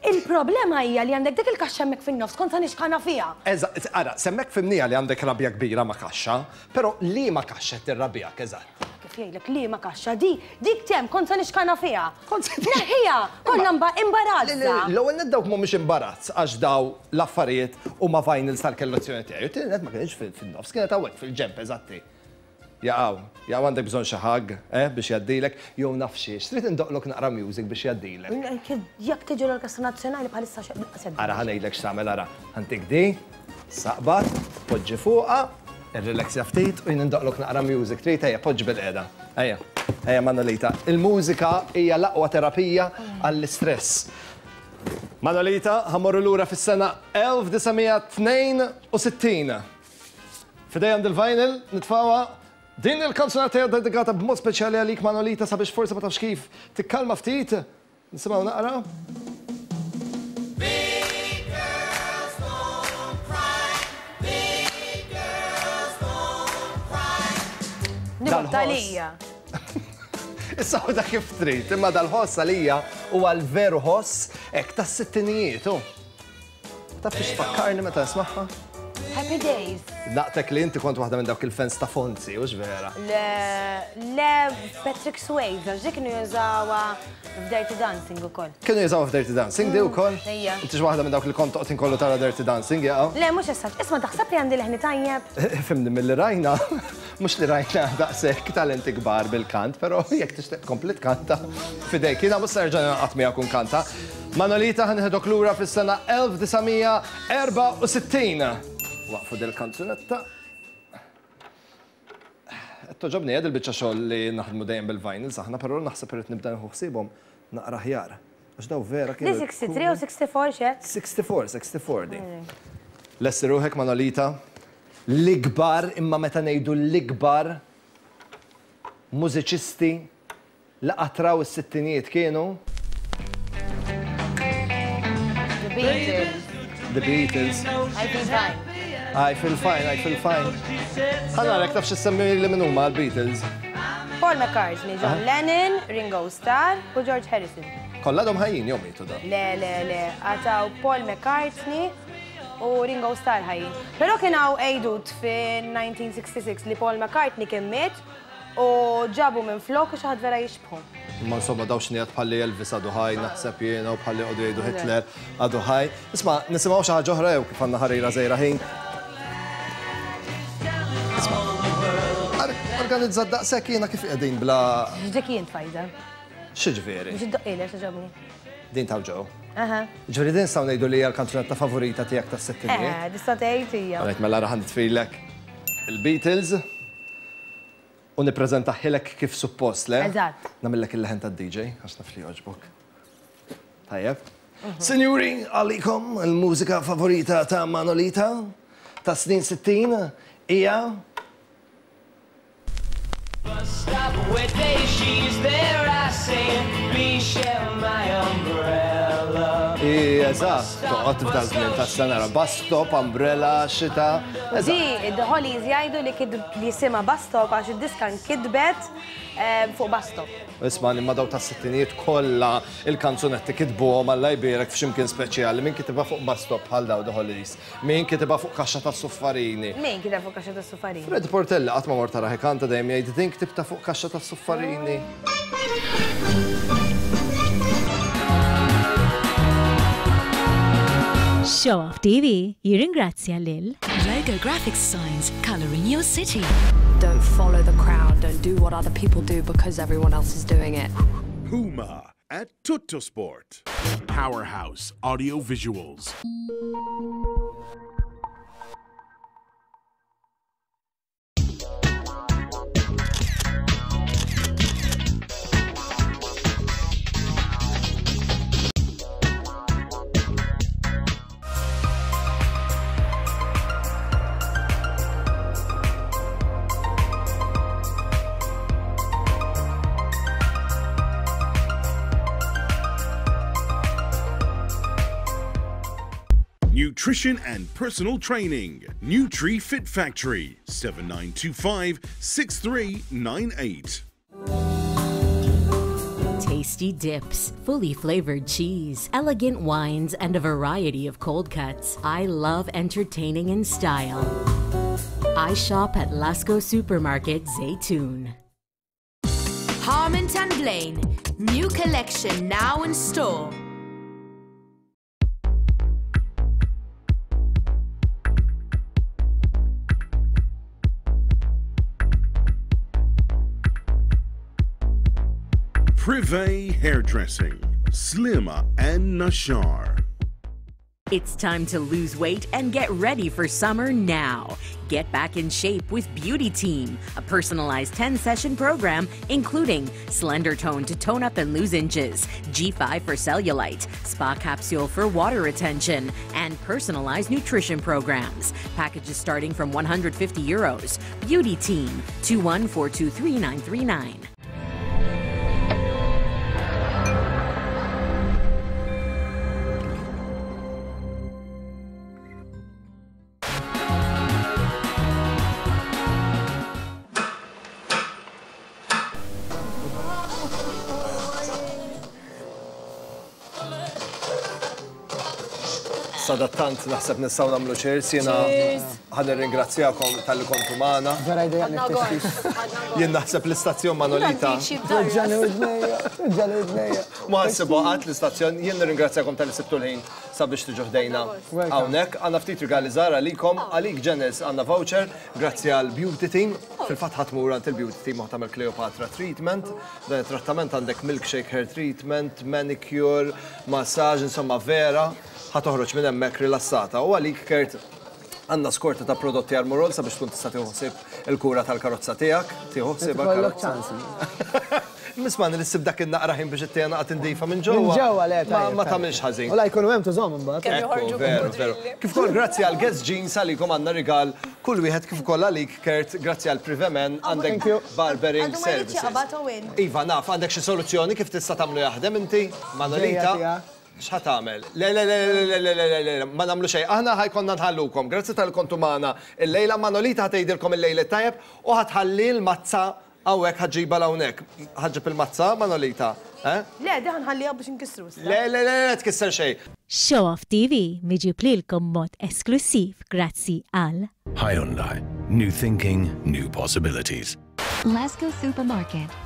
Il-problema hija li għandek dik il-kaxxa hemmhekk fin-nofs, kont sa nixkana fiha. Eżatt, ara, s'hemmhekk fhimniha li għandek rabja kbira ma' kaxxa, però liema kaxxa qed tirrabjak eżatt? Kif jgħidlek liema kaxxa? Di, dik t'hemm, kont sa nixkana fiha. Neħħiha! Konna imbarazza. L-ewwel nett dawk mhumiex imbarazz għax daw l-affarijiet huma vinyls tal-kellezzjoni tiegħi. U t-tieni nett ma kinitx fin-nofs, kienet hawnhekk fil-ġenb eżatti. Jaqaw, jaqaw għandek bżonn xi hug, eh, biex jgħaddilek, jew naf xiex, trid indoqqlok naqra music biex jgħaddilek. Jekk tiġi l-Orkestra Nazzjonali bħalissa xi. Ara ħa ngħidlek x'tagħmel ara, ħa ntik di, saqbad, poġġi fuqha, irrileksja ftit u jien indoqqlok naqra music, trid ejja poġġi bilqiegħda. Ejja, ejja Manolita. Il-mużika hija l-aqwa terapija għall-istress. Manolita, ħa mmorru lura fis-sena 1962. F'idejja għandi l-vinyl, nitfgħuha. Din il-kanzunetta hija dedikata b'mod speċjali għalik Manolita sabiex forsi ma tafx kif tikkalma ftit. Nisimgħu naqra. Nibgħat għalija. Issa ħudha kif trid, imma dal-ħoss għalija huwa l-veru ħoss hekk tas-sittinijiet. Taf fiex tfakkarni meta nismagħha? Happy Days. Naqtek li inti kont waħda minn dawk il-fans ta' Fonzi, hux vera? Le, le Patrick Swayze, għax dik kienu jużawha f'Dirty Dancing ukoll. Kienu jużawha f'Dirty Dancing di wkoll? Ejja. Inti waħda minn dawk li kont toqgħod inkollu tara Dirty Dancing, jaqgħu? Le, mhux issa. Isma' taħseb li għandi leħni tajjeb? Fimni milli rajna, mhux li rajna daqshekk talenti kbar bil-kant, però jekk tixtieq tkompli tkanta f'idejk. Jiena mhux se nerġa' ningħaqad miegħek u nkanta. Manolita ħa nieħdok lura fis-sena 1964. Waqfu dil-kanzunetta. Qed togħġobni eh dil-biċċa xogħol li naħdmu dejjem bil-vinyls aħna, però naħseb irrid nibda nieħu ħsiebhom naqra aħjar. Għax daw vera kienu. Di 63 u 64 x'għedt? 64, 64 di. Lesti ruħek Manolita. L-ikbar, imma meta ngħidu l-ikbar mużiċisti li qatt raw is-sittinijiet kienu? The Beatles. The Beatles. I feel fine. I feel fine, I feel fine. Ħa narek taf x'issemmi li min huma l-Beatles. Paul McCartney, John Lennon, Ringo Starr u George Harrison. Kollha għadhom ħajjin jew mietu dawn? Le, le, le, għataw Paul McCartney u Ringo Starr ħajjin. Però kien hawn għejdut fin-1966 li Paul McCartney kien miet U ġabu minfloku xi ħadd vera jixbħu. Imma insomma dawn xnigħat bħalli Elvis għadu ħaj naħseb jiena u bħalli qogħdu jgħidu Hitler għadu ħaj. Isma' nisimgħu xi ħaġa oħra jew kif għandna ħarira żgħira ħin. Isma' organizzat daqshekk jiena kif qegħdin bla. X'dik jien tfajda. X'ġifieri? Biex iddoqqilek togħġobni. Din ta' Joe. Aha. Ġifieri din nistgħu ngħidu li hija l-kanzunetta favorita tiegħek tas-sittinijiet? Eh, tista' tgħid hija. Għalhekk mela raħan nitfilek il-Beatles. U nippreżentahielek kif suppost, le? Eżatt. Nagħmillek il-leħen tad-DJ, għax naf li jogħġbok. Tajjeb. Sinjuri, għalikom il-mużika favorita ta' Manolita ta' snin 60 hija Stop where day she's there, I say, please share my umbrella. Eżatt, toqgħod f'dan żmien tas-sena bus stop, umbrella, xita. Di, The Hollies jgħidu li li jisimha Bus Stop għax id-diska nkitbet eh, fuq bus stop. Isma' imma daw tas-sittinijiet kollha il-kanzunetti kitbuhom Alla jbierek f'ximkien speċjali. Min kitibha fuq bus stop bħal daw The Hollies? Min kitibha fuq kaxxa tas-suffarini? Min kitibha fuq kaxxa tas-suffarini? Fred Portelli qatt ma mort tarah ikanta dejjem jgħid din ktibtha fuq kaxxa tas-suffarini. Show Off TV jirringrazzja lil. Logo Graphics Signs, colouring your city. Don't follow the crowd, don't do what other people do because everyone else is doing it. Puma at Tuttosport. Powerhouse Audio Visuals. Nutrition and personal training. Nutri Fit Factory, 7925 6398. Tasty dips, fully flavored cheese, elegant wines, and a variety of cold cuts. I love entertaining in style. I shop at Lasco Supermarket, Zaytoon. Harmon and Blaine, new collection now in store. Privé Hairdressing, Slimma and Nashar. It's time to lose weight and get ready for summer now. Get back in shape with Beauty Team, a personalized 10 session program including Slender Tone to tone up and lose inches, G5 for cellulite, Spa Capsule for water retention, and personalized nutrition programs. Packages starting from 150 euros. Beauty Team, 21423 Sadattant naħseb nistgħu nagħmlu cheers jiena ħa nirringrazzjakom talli kontu magħna. Vera idejaqni t-tixtix. Jien naħseb l-istazzjon Manolita. Weġġani widnejja, weġġani widnejja. Ma ħassibu qatt l-istazzjon, jien nirringrazzjakom talli sibtu l-ħin sabiex tiġu ħdejna hawnhekk. Għandna ftit rigali żgħar għalikom, għalik Janice għandna voucher grazzi għal Beauty Team. Fil-fatt ħa tmur għand il-Beauty Team u ħa tagħmel Cleopatra treatment. Dan it-trattament għandek milkshake hair treatment, manicure, massage, insomma vera ħa toħroġ minn hemmhekk rilassata. U għalik Kurt għandna skorta ta' prodotti Armorol sabiex tkun tista' tieħu ħsieb il-kura tal-karozza tiegħek, tieħu ħsieb Ikollok ċans. Misman li ssib dak in-naqra ħin biex ittejja naqa' tindifa minn ġewwa. Minn ġewwa le tajjeb. Ma tagħmilx ħażin. U la jkunu hemm tużhom imbagħad. Ekku, veru, veru. Kif ukoll grazzi għal Guess Jeans għalikom għandna rigal kull wieħed kif ukoll għalik Kurt, grazzi għal Privemen għandek barbering services. Iva, naf, għandek xi soluzzjoni kif tista' tagħmlu jaħdem inti? Manolita? X'ħa tagħmel? Le, le, le, le, le, le, le, le, le, ma nagħmlu xejn. Aħna ħa jkollna nħallukom. Grazzi talli kontu magħna illejla. Manolita ħa tgħidilkom il-lejl it-tajjeb u ħa tħalli l-mazza hawnhekk ħa ġġibha 'l hawnhekk. Ħa ġġib il-mazza, Manolita? Eh? Le, di ħa nħalliha biex inkissru issa. Le, le, le, le, tkisser xejn. Show Off TV miġjub lilkom b'mod esklussiv grazzi għal. Hyundai, new thinking, new possibilities. Lasco Supermarket.